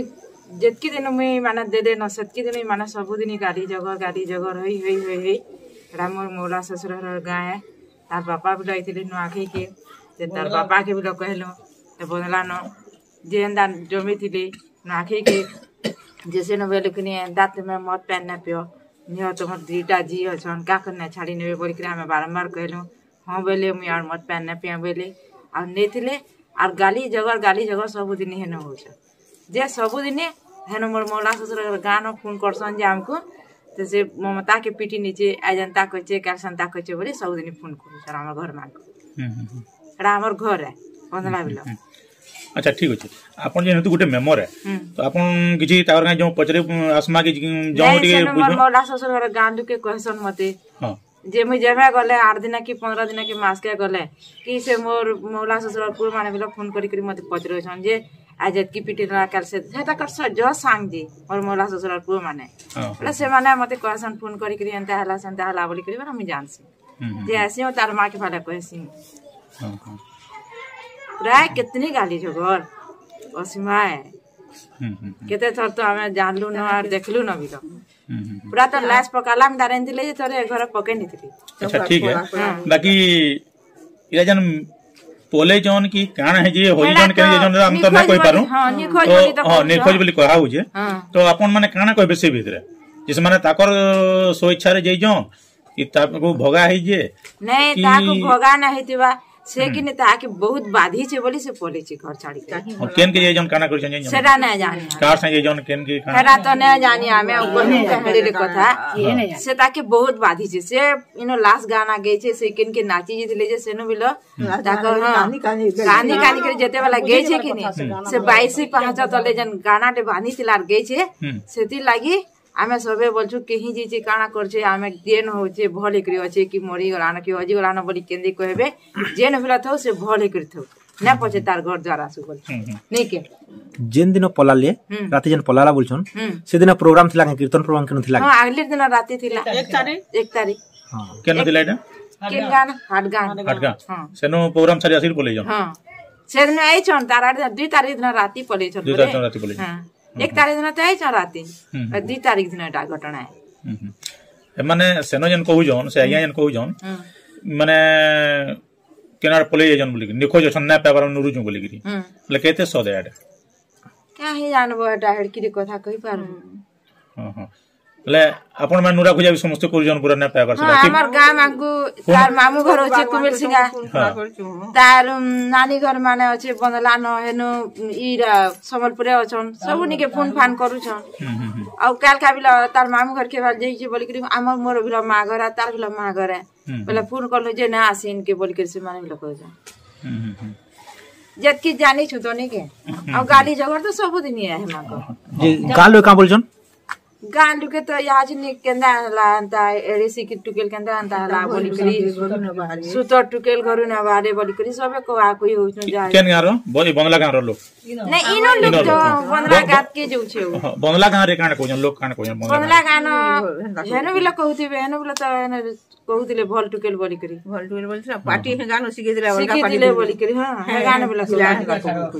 ଯେତକି ଦିନ ମୁଇଁ ମାନେ ଦେଦେ ନ, ସେତକି ଦିନ ମାନେ ସବୁଦିନ ଗାଲି ଜଗର, ଗାଲି ଜଗର, ହେଇ, ହେଇ, ହେଇ, ହେଇ। ଏଟା ମୋର ମଉଲା ଶ୍ୱଶୁର ଘର ଗାଁ ଏ। ତାର ବାପା ବି ରହିଥିଲେ ନୂଆଖାଇକେ। ଯେ ତାର ବାପାକେ ବି କହିଲୁ, ଏ ବଦଲା ନ, ଯେ ଏନ୍ତା ଜମିଥିଲେ, ନୂଆଖାଇକେ, ଯେ ସେନ ବେଲୁ କିନି ଏନ୍ତା ତୁମେ ମଦ ପାନ୍ ନାଇଁ ପିଅ, ନିଅ ତୁମର ଦିଟା ଝି ଅଛନ୍, କାକର ନାଇଁ ଛାଡି ନେବେ ବୋଲିକିରି ଆମେ ବାରମ୍ବାର କହିଲୁ। ହଁ ବୋଇଲେ, ମୁଇଁ ଆର ମଦ ପାନ୍ ନାଇଁ ପିଏ ବୋଇଲେ, ଆଉ ନେଇଥିଲେ, ଆର ଗାଲି ଜଗର, ଗାଲି ଜଗର ସବୁଦିନ ହେନ ହଉଛନ୍। ଯେ ସବୁଦିନେ ହେନ ମୋର ମଉଲା ଶ୍ୱଶୁର ଗାଁ ନ ଫୋନ କରସନ୍ ଯେ ଆମକୁ, ତ ସେ ମମତାକେ ପିଟି ନେଇଛେ, ଆଜ ଏନ୍ତା କରିଛେ, କାଲ ସେନ୍ତା କରିଛେ ବୋଲି ସବୁଦିନ ଫୋନ କରୁଛନ୍ ଆମର ଘର ମାନଙ୍କୁ। ହୁଁ, ହୁଁ, ହୁଁ। ସେଟା ଆମର ଘର ଏ, ବନ୍ଦଲା ବିଲ। ହୁଁ, ହୁଁ। ଆଚ୍ଛା, ଠିକ୍ ଅଛେ। ଆପଣ ଯେହେତୁ ଗୋଟେ ମେମ୍ବର ଏ, ହୁଁ। ତ ଆପଣ କିଛି ତାଙ୍କର କାଇଁ ଯୋଉ ପଚରେ, ଉଁ, ଆସମା କି, ଉଁ, ଯୋଉ ନାଇଁ, ଟିକେ ସେନ ମୋର ବୁଝ- ମଉଲା ଶ୍ୱଶୁର ଘର ଗାଁ ଲୋକେ କହେସନ୍ ମତେ, ହଁ। ଯେ ମୁଇଁ ଯେବେ ଗଲେ ଆଠ ଦିନ କି ପନ୍ଦର ଦିନ କି ମାସକେ ଗଲେ, କି ସେ ମୋର ମଉଲା ଶ୍ୱଶୁର ପୁଅ ମାନେ ବିଲ ଫୋନ କରି କରି ମତେ ପଚରଉଛନ୍ ଯେ, ଆଜ ଯେତକି ପିଟି ଦେଲା କାଲ ସେ, ସେଟା କର ସ-, ଜ ସାଙ୍ଗ ଯେ, ମୋର ମଉଲା ଶ୍ୱଶୁର ପୁଅ ମାନେ। ହଁ, ହଁ, ବୋଲେ ହଁ। ସେମାନେ ମତେ କହେସନ୍ ଫୋନ କରି କରି, ଏନ୍ତା ହେଲା, ସେନ୍ତା ହେଲା ବୋଲି କରି, ବୋଲେ ମୁଇଁ ଜାଣସି। ହୁଁ, ହୁଁ, ଯେ ହୁଁ। ଆସି, ଆଉ ତାର ମା କେ ଫାଲେ କହେସି। ହଁ, ହଁ। ପ୍ରାୟ କେତନି ଗାଲି ଜଗର, ଅସୀମା ଏ। ହୁଁ, ହୁଁ, ହୁଁ। କେତେ ଥର ତ ଆମେ ଜାଣଲୁ ନ, ଆର ଦେଖଲୁ ନ ବିଲ। ହୁଁ, ହୁଁ, ହୁଁ। ପୁରା ତ ଲାଶ ପକାଲା, ଆମେ ଡରେଇଥିଲେ ଯେ ଥରେ ଘରେ ପକେଇ ନେଇଥିଲି। ଆଚ୍ଛା, ଠିକ୍ ହେ। ହଁ। ବାକି ଇଟା ଯେନ୍ ପଲେଇଛନ୍ କି କାଣା ହେଇଛେ, ହଜିଛନ୍, କେନ୍ ଯାଇଛନ୍, ଆମେ ତ ନାଇଁ କହିପାରୁ। ହଁ, ନିଖୋଜ ତ, ବୋଲି ତ ହଁ, କହୁଛନ୍। ନିଖୋଜ ବୋଲି କୁହା ହଉଛେ। ହଁ। ତ ଆପଣ ମାନେ କାଣା କହିବେ ସେ ଭିତରେ? ଯେ ସେମାନେ ତାଙ୍କର ସ୍ୱଇଚ୍ଛାରେ ଯାଇଛନ୍, କି ତାକୁ ଭଗା ହେଇଛେ? ନାଇଁ, କି ତାକୁ ଭଗା ନା ହେଇଥିବା। ସେ ହୁଁ। କିନି ତାକେ ବହୁତ ବାଧିଛେ ବୋଲି ସେ ପଲେଇଛେ ଘର ଛାଡ଼ିକି। ହଁ, କେନ୍ କେ ଯାଇଛନ୍, କାଣା କରିଛନ୍, ଜାଣିଛନ୍? ସେଟା ନାଇଁ ଜାଣି। କାର୍ ସାଙ୍ଗେ ଯାଇଛନ୍, କେନ୍ କେ କାଣା? ସେଟା ତ ନାଇଁ ଜାଣି, ଆମେ ଆଉ କହିଲୁ କାହାରିରେ କଥା। ଇଏ ନାଇଁ ଜାଣି। ସେ ତାକେ ବହୁତ ବାଧିଛେ। ସେ ଇନ ଲାଷ୍ଟ ଗାନା ଗେଇଛେ, ସେ କେନ୍ କେ ନାଚି ଯାଇଥିଲେ ଯେ ସେନୁ ବିଲ ହୁଁ। ତାକ, ହଁ, କାନ୍ଦି କାନ୍ଦି କାନ୍ଦି କାନ୍ଦି କରି ଯେତେବେଳେ ଗେଇଛେ କିନି, ହୁଁ। ସେ ବାଇଶି ପାହାଚ ତଲେ ଯେନ୍ ଗାନାଟେ ବାନ୍ଧିଥିଲା ଆର୍ ଗେଇଛେ, ହୁଁ। ସେଥିର୍ ଲାଗି ଆମେ ସବେ ବୋଲଛୁ, କେହି ଯାଇଛେ, କାଣା କରିଛେ, ଆମେ ଯେନ୍ ହଉଛେ, ଭଲ ହେଇକରି ଅଛେ, କି ମରିଗଲାନ, କି ହଜିଗଲାନ ବୋଲି କେନ୍ଦି କହିବେ, ଯେନ୍ ଭିଲ ଥାଉ, ସେ ଭଲ ହେଇକରି ଥାଉ। ନା ପଛେ ତାର ଘର ଦ୍ୱାର ଆସୁ ବୋଲଛୁ। ହୁଁ, ହୁଁ। ନାଇଁ କେ? ଯେନ୍ ଦିନ ପଲାଲେ, ହୁଁ। ରାତି ଯେନ୍ ପଲାଲା ବୋଲଛନ୍, ହୁଁ। ସେଦିନ ପ୍ରୋଗ୍ରାମ ଥିଲା କାଁ? କୀର୍ତ୍ତନ ପ୍ରୋଗ୍ରାମ କେନ ଥିଲା ହଁ, କାଁ? ଆଗଲି ଦିନ ରାତି ଥିଲା। ଏକ ତାରିଖ। ଏକ ତାରିଖ। ହଁ। କେନ ଥିଲା ଏଟା? କେନ୍ ଗାଁ? ହାଟଗାଁ। ହାଟଗାଁ। ହଁ। ସେନୁ ପ୍ରୋଗ୍ରାମ ସାରି ଆସିକି ପଲେଇଛନ୍? ହଁ। ସେଦିନ ଆଇଛନ୍, ତାର ଆଡେ ଦୁଇ ତାରିଖ ଦିନ ରାତି ପଲେଇଛନ୍ ଦୁଇ ତାରିଖ ବୋଲେ। ଦିନ ରାତି ପଲେଇଛନ୍। ହଁ। ହୁଁ, ଏକ ହୁଁ। ତାରିଖ ଦିନ ତ ଆଇଛନ୍ ରାତି। ହୁଁ, ହୁଁ। ଆଉ ଦୁଇ ତାରିଖ ଦିନ ଏଟା ଘଟଣା। ହୁଁ, ହୁଁ। ଏମାନେ ସେନ ଯେନ୍ କହୁଛନ୍, ସେ ଆଜ୍ଞା ହୁଁ। ଯେନ୍ କହୁଛନ୍, ହୁଁ। ମାନେ କେନାଡ ପଲେଇ ଯାଇଛନ୍ ବୋଲିକିରି, ନିଖୋଜ ଅଛନ୍, ନାଇଁ ପାଇବାର, ନୁରୁଛୁଁ ବୋଲିକିରି। ହୁଁ। ବୋଲେ କେତେ ସତ ଏଟା? କାହିଁ ଜାଣବ ଏଟା, ହେଡ଼କିରି କଥା କହିପାରବୁ। ହୁଁ। ହଁ, ହଁ। ବୋଲେ ଆପଣ ମାନେ ନୁରା ଖୁଜା ବି ସମସ୍ତେ କରୁଛନ୍, ପୁରା ନାଇଁ ପାଇବାର ହଁ, ସେଟା, ଠିକ୍? ଆମର ଗାଁ ମାନଙ୍କୁ, କୋନ ତାର ମାମୁ ଘର ଅଛେ କୁମିଲ ସିଙ୍ଗା। ହଁ। ତାର, ଉଁ, ନାନୀ ଘର ମାନେ ଅଛେ ବନ୍ଦଲା ନ, ହେନୁ, ଉଁ, ଇରା ସମ୍ବଲପୁରରେ ଅଛନ୍, ସବୁ ନିକେ ଫୋନ ଫାନ କରୁଛନ୍। ହୁଁ, ହୁଁ, ହୁଁ। ଆଉ କାଲ କା ବିଲ ତାର ମାମୁ ଘର କେ ବାଲ ଯାଇଛି ବୋଲିକିରି, ଆମର ମୋର ବିଲ ମା ଘର, ତାର ବିଲ ମା ଘର। ହୁଁ, ବୋଲେ ହୁଁ। ଫୋନ କଲୁ ଯେ ନା ଆସିନ୍ କେ ବୋଲିକିରି ସେମାନେ ବିଲ କହୁଛନ୍। ହୁଁ, ହୁଁ, ହୁଁ। ଯେତକି ଜାଣିଛୁ ତ ନିକେ। ହୁଁ, ଆଉ ହୁଁ। ଗାଲି ଜଗର ତ ସବୁଦିନ ଏ ହେମାନଙ୍କ। ଯେ ଗାଁ ଲୋକ କାଁ ବୋଲଛନ୍? ଗାଁ ଲୋକେ ତ ୟାଚିନି କେନ୍ତା ହେଲା, ଏନ୍ତା ଏଡିସି କି ଟୁକେଲ କେନ୍ତା ଏନ୍ତା ହେଲା ବୋଲିକରି, ସୁତର ଟୁକେଲ ଘରୁ ନା ବାହାରେ ବୋଲିକରି ସବେ କହା କହି ହଉଛନ୍। ଯାହା କେନ୍ ଗାଁର? ବ-, ଏ ବନ୍ଦଲା ଗାଁର ଲୋକ? ନାଇଁ, ଇନର ଲୋକ ଇନର ତ ଲୋକ। ବନ୍ଦଲା ବ-, ବ-, ଗାଁ କେ ଯାଉଛେ। ହଁ, ବନ୍ଦଲା ଗାଁରେ କାଣା କହୁଛନ୍? ଲୋକ କାଣା କହୁଛନ୍? ବନ୍ଦଲା ଗାଁ ନ, ହେନ ବିଲ କହୁଥିବେ, ହେନ ବିଲ ତ ହେନ କହୁଥିଲେ ଭଲ ଟୁକେଲ ବୋଲିକରି। ଭଲ ଟୁକେଲ ବୋଲିକରି, ପାଟି ହେ ଗାଁ ନ ଶିଖେଇଥିଲେ, ଅଲଗା ପାଟି ଶିଖେଇଥିଲେ ବୋଲିକରି। ବୋଲିକରି, ହଁ, ହେ ଗାଁ ନ ବିଲ।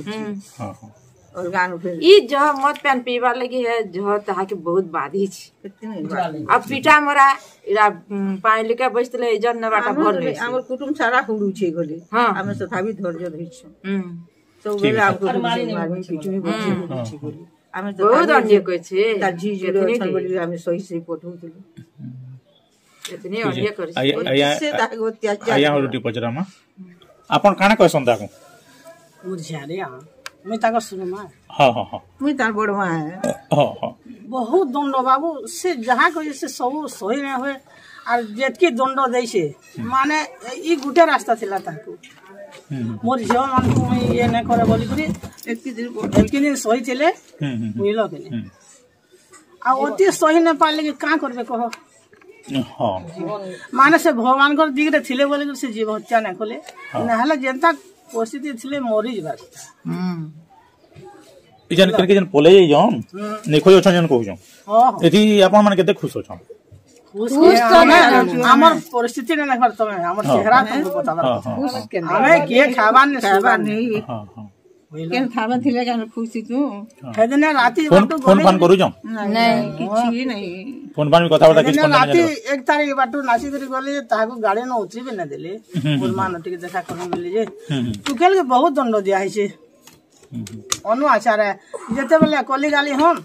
ହୁଁ। ହଁ, ହଁ। ଅଲଗା ନ ଫେର। ଇ ଜହ ମଦ ପାନ ପିଇବାର ଲାଗି ହେ ଜହ ତାହାକେ ବହୁତ ବାଧିଛି। କେତେ ନାଇଁ ବାଧି। ଆଉ ପିଟା ମରା, ଇରା, ଉଁ, ପାଣି ଲେକେ ବସିଥିଲେ, ଏଜନ ନେବାଟା ଆମର ଭଲ ତ ନୁହେଁ। ଆମର କୁଟୁମ ସାରା ହୁଡୁଛେ ଗଲେ। ହଁ। ଆମେ ତଥାପି ଧୈର୍ଯ୍ୟ ଧରିଛୁ। ହୁଁ। ସବୁବେଳେ ଠିକ୍ ଅଛି। ଆମକୁ ମାରି ମାରି ପିଟୁନି, ବସି ହୁଁ। ହୁଡୁଛି ବୋଲି। ଆମେ ତ ବହୁତ ତାକୁ ଅନ୍ୟାୟ କରିଛେ। ତା ଝିଅ ଯୋଉଟା କେତନି ଅଛନ୍ ଯେ? ବୋଲି ଆମେ ସହି ସହି ପଠଉଥିଲୁ। ଏତନି ଠିକ୍ ଅଛି। ଅନ୍ୟାୟ କରିଛେ। ଆଜ୍ଞା, ଆଜ୍ଞା, ସେ ତାକୁ ଅତ୍ୟାଚାର ଆଜ୍ଞା, କଲା। ହଉ, ଟିକେ ପଚରାମା। ଆପଣ କାଣା କହିସନ୍ ତାକୁ? ମୋର ଝିଆରୀ, ଆ। ମୁଇଁ ତାଙ୍କ ସୁନମା। ହଁ, ହଁ, ହଁ। ମୁଇଁ ତାର ବଡ ମା। ହଁ, ହଁ। ବହୁତ ଦଣ୍ଡ ବାବୁ, ସେ ଯାହା କହିଛେ ସେ ସବୁ ସହି ନାଇଁ ହୁଏ। ଆର୍ ଯେତକି ଦଣ୍ଡ ଦେଇଛେ, ହୁଁ। ମାନେ, ଇ ଗୁଟେ ରାସ୍ତା ଥିଲା ତାକୁ। ହୁଁ, ହୁଁ। ମୋର ଝିଅ ମାନଙ୍କୁ ମୁଇଁ ଇଏ ନାଇଁ କରେ ବୋଲିକରି ଏତକି ଦିନ, ଏତକି ଦିନ ସହିଥିଲେ, ହୁଁ, ହୁଁ, ହୁଁ। ବୁଝିଲ କି ନାଇଁ? ହୁଁ। ଆଉ ଅତି ସହି ନାଇଁ ପାରିଲେ କି କାଁ କରିବେ କହ? ହଁ। ମାନେ ସେ ଭଗବାନଙ୍କର ଦିଗରେ ଥିଲେ ବୋଲିକରି ସେ ଜୀବ ହତ୍ୟା ନାଇଁ କଲେ। ହଁ। ନାହେଲେ ଯେନ୍ତା ପରିସ୍ଥିତି ଥିଲେ ମରିଯିବା କଥା। ହୁଁ। ଇ ଯେନ୍ କେନ୍ କେ ଯେନ୍ ପଲେଇ ଯାଇଛନ୍, ହୁଁ। ନିଖୋଜ ଅଛନ୍ ଯେନ୍ କହୁଛନ୍। ହଁ, ହଁ। ଏଠି ଆପଣମାନେ କେତେ ଖୁସ ଅଛନ୍? ଖୁସ ଖୁସ ତ ତ ଆମେ, ନାଇଁ ଅଛୁ। ଆମର ପରିସ୍ଥିତି ନାଇଁ ଦେଖବାର ତମେ, ଆମର ହଁ। ଚେହେରା ତମକୁ ବତାବାର ହଁ, କଥା। ହଁ, ଖୁସ ହଁ। କେନ୍ ଆମେ କିଏ ଖାଇବାର ନାଇଁ, ଖାଇବାର ଶୋଇବାର ନାଇଁ। ନାଇଁ। ହଁ, ହଁ। ବୁଝିଲ? କେନ୍ ଥାମେ ଥିଲେ କେନ୍ ଖୁସି ତୁ? ହଁ। ସେଦିନ ରାତି ଫୋନ, ବାଟୁ ଫୋନ ଗଲେ ଫାନ କରୁଛନ୍? ନାଇଁ, ନାଇଁ, କିଛି ନାଇଁ। ଫୋନ ଫାନ ବି କଥାବାର୍ତ୍ତା କିଛି ସେଦିନ ଫୋନ ଫାନ ରାତି ଜାଣିବ? ଏକ ତାରିଖ ବାଟୁ ନାସିକରି ଗଲେ ଯେ ତାହାକୁ ଗାଡ଼ି ନ ଉତରି ବି ନାଇଁ ଦେଲେ। ହୁଁ, ହୁଁ, ମୋର ମା ହୁଁ। ନ ଟିକେ ଦେଖା କରମି ବୋଲି ଯେ। ହୁଁ, ହୁଁ। ଟୁକେଲ କେ ବହୁତ ଦଣ୍ଡ ଦିଆ ହେଇଛେ। ହୁଁ, ହୁଁ। ଅନୁ ଆଚାର ଯେତେବେଳେ କଲି ଗାଲି ହନ୍,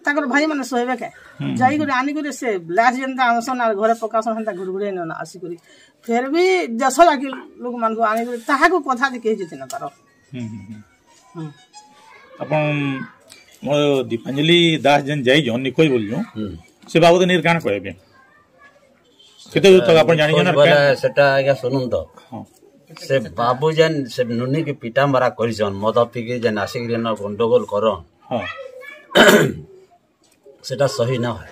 ତାଙ୍କର ଭାଇମାନେ ଶୋଇବେ କେ? ହୁଁ, ହୁଁ, ଯାଇକରି ହୁଁ। ଆନିକରି ସେ ଲାଶ ଯେନ୍ତା ଆନସନ୍ ଆର୍ ଘରେ ପକାସନ୍, ହେନ୍ତା ଘୁରଘୁରେଇ ନନା ଆସିକରି। ଫେର ବି ଦେଶ ଯାକି ଲୋକମାନଙ୍କୁ ଆନିକରି ତାହାକୁ କଥା ଯେ କେହି ଜିତି ନ ପାର। ହୁଁ, ହୁଁ, ହୁଁ। ହୁଁ। ଆପଣ, ମୋର ଦୀପାଞ୍ଜଳି ଦାସ ଯେନ୍ ଯାଇଛନ୍, ନିଖୋଜ ବୋଲୁଛନ୍, ହୁଁ। ସେ ବାବଦ ନିର କାଣା କହିବେ? କେତେ ଦୂର ତକ ଆପଣ ଜାଣିଛନ୍, ନିଖୋଜ କେନ୍? ବୋଲେ ସେଟା ଆଜ୍ଞା ଶୁଣୁନ୍ ତ। ହଁ। ସେ ବାବୁ ଯେନ୍, ସେ ନୁନି କି ପିଟା ମରା କରିଛନ୍, ମଦ ପିକି ଯେନ୍ ଆସିକିରି ଏନ ଗଣ୍ଡଗୋଳ କରନ୍। ହଁ। ସେଟା ସହି ନା ହୁଏ।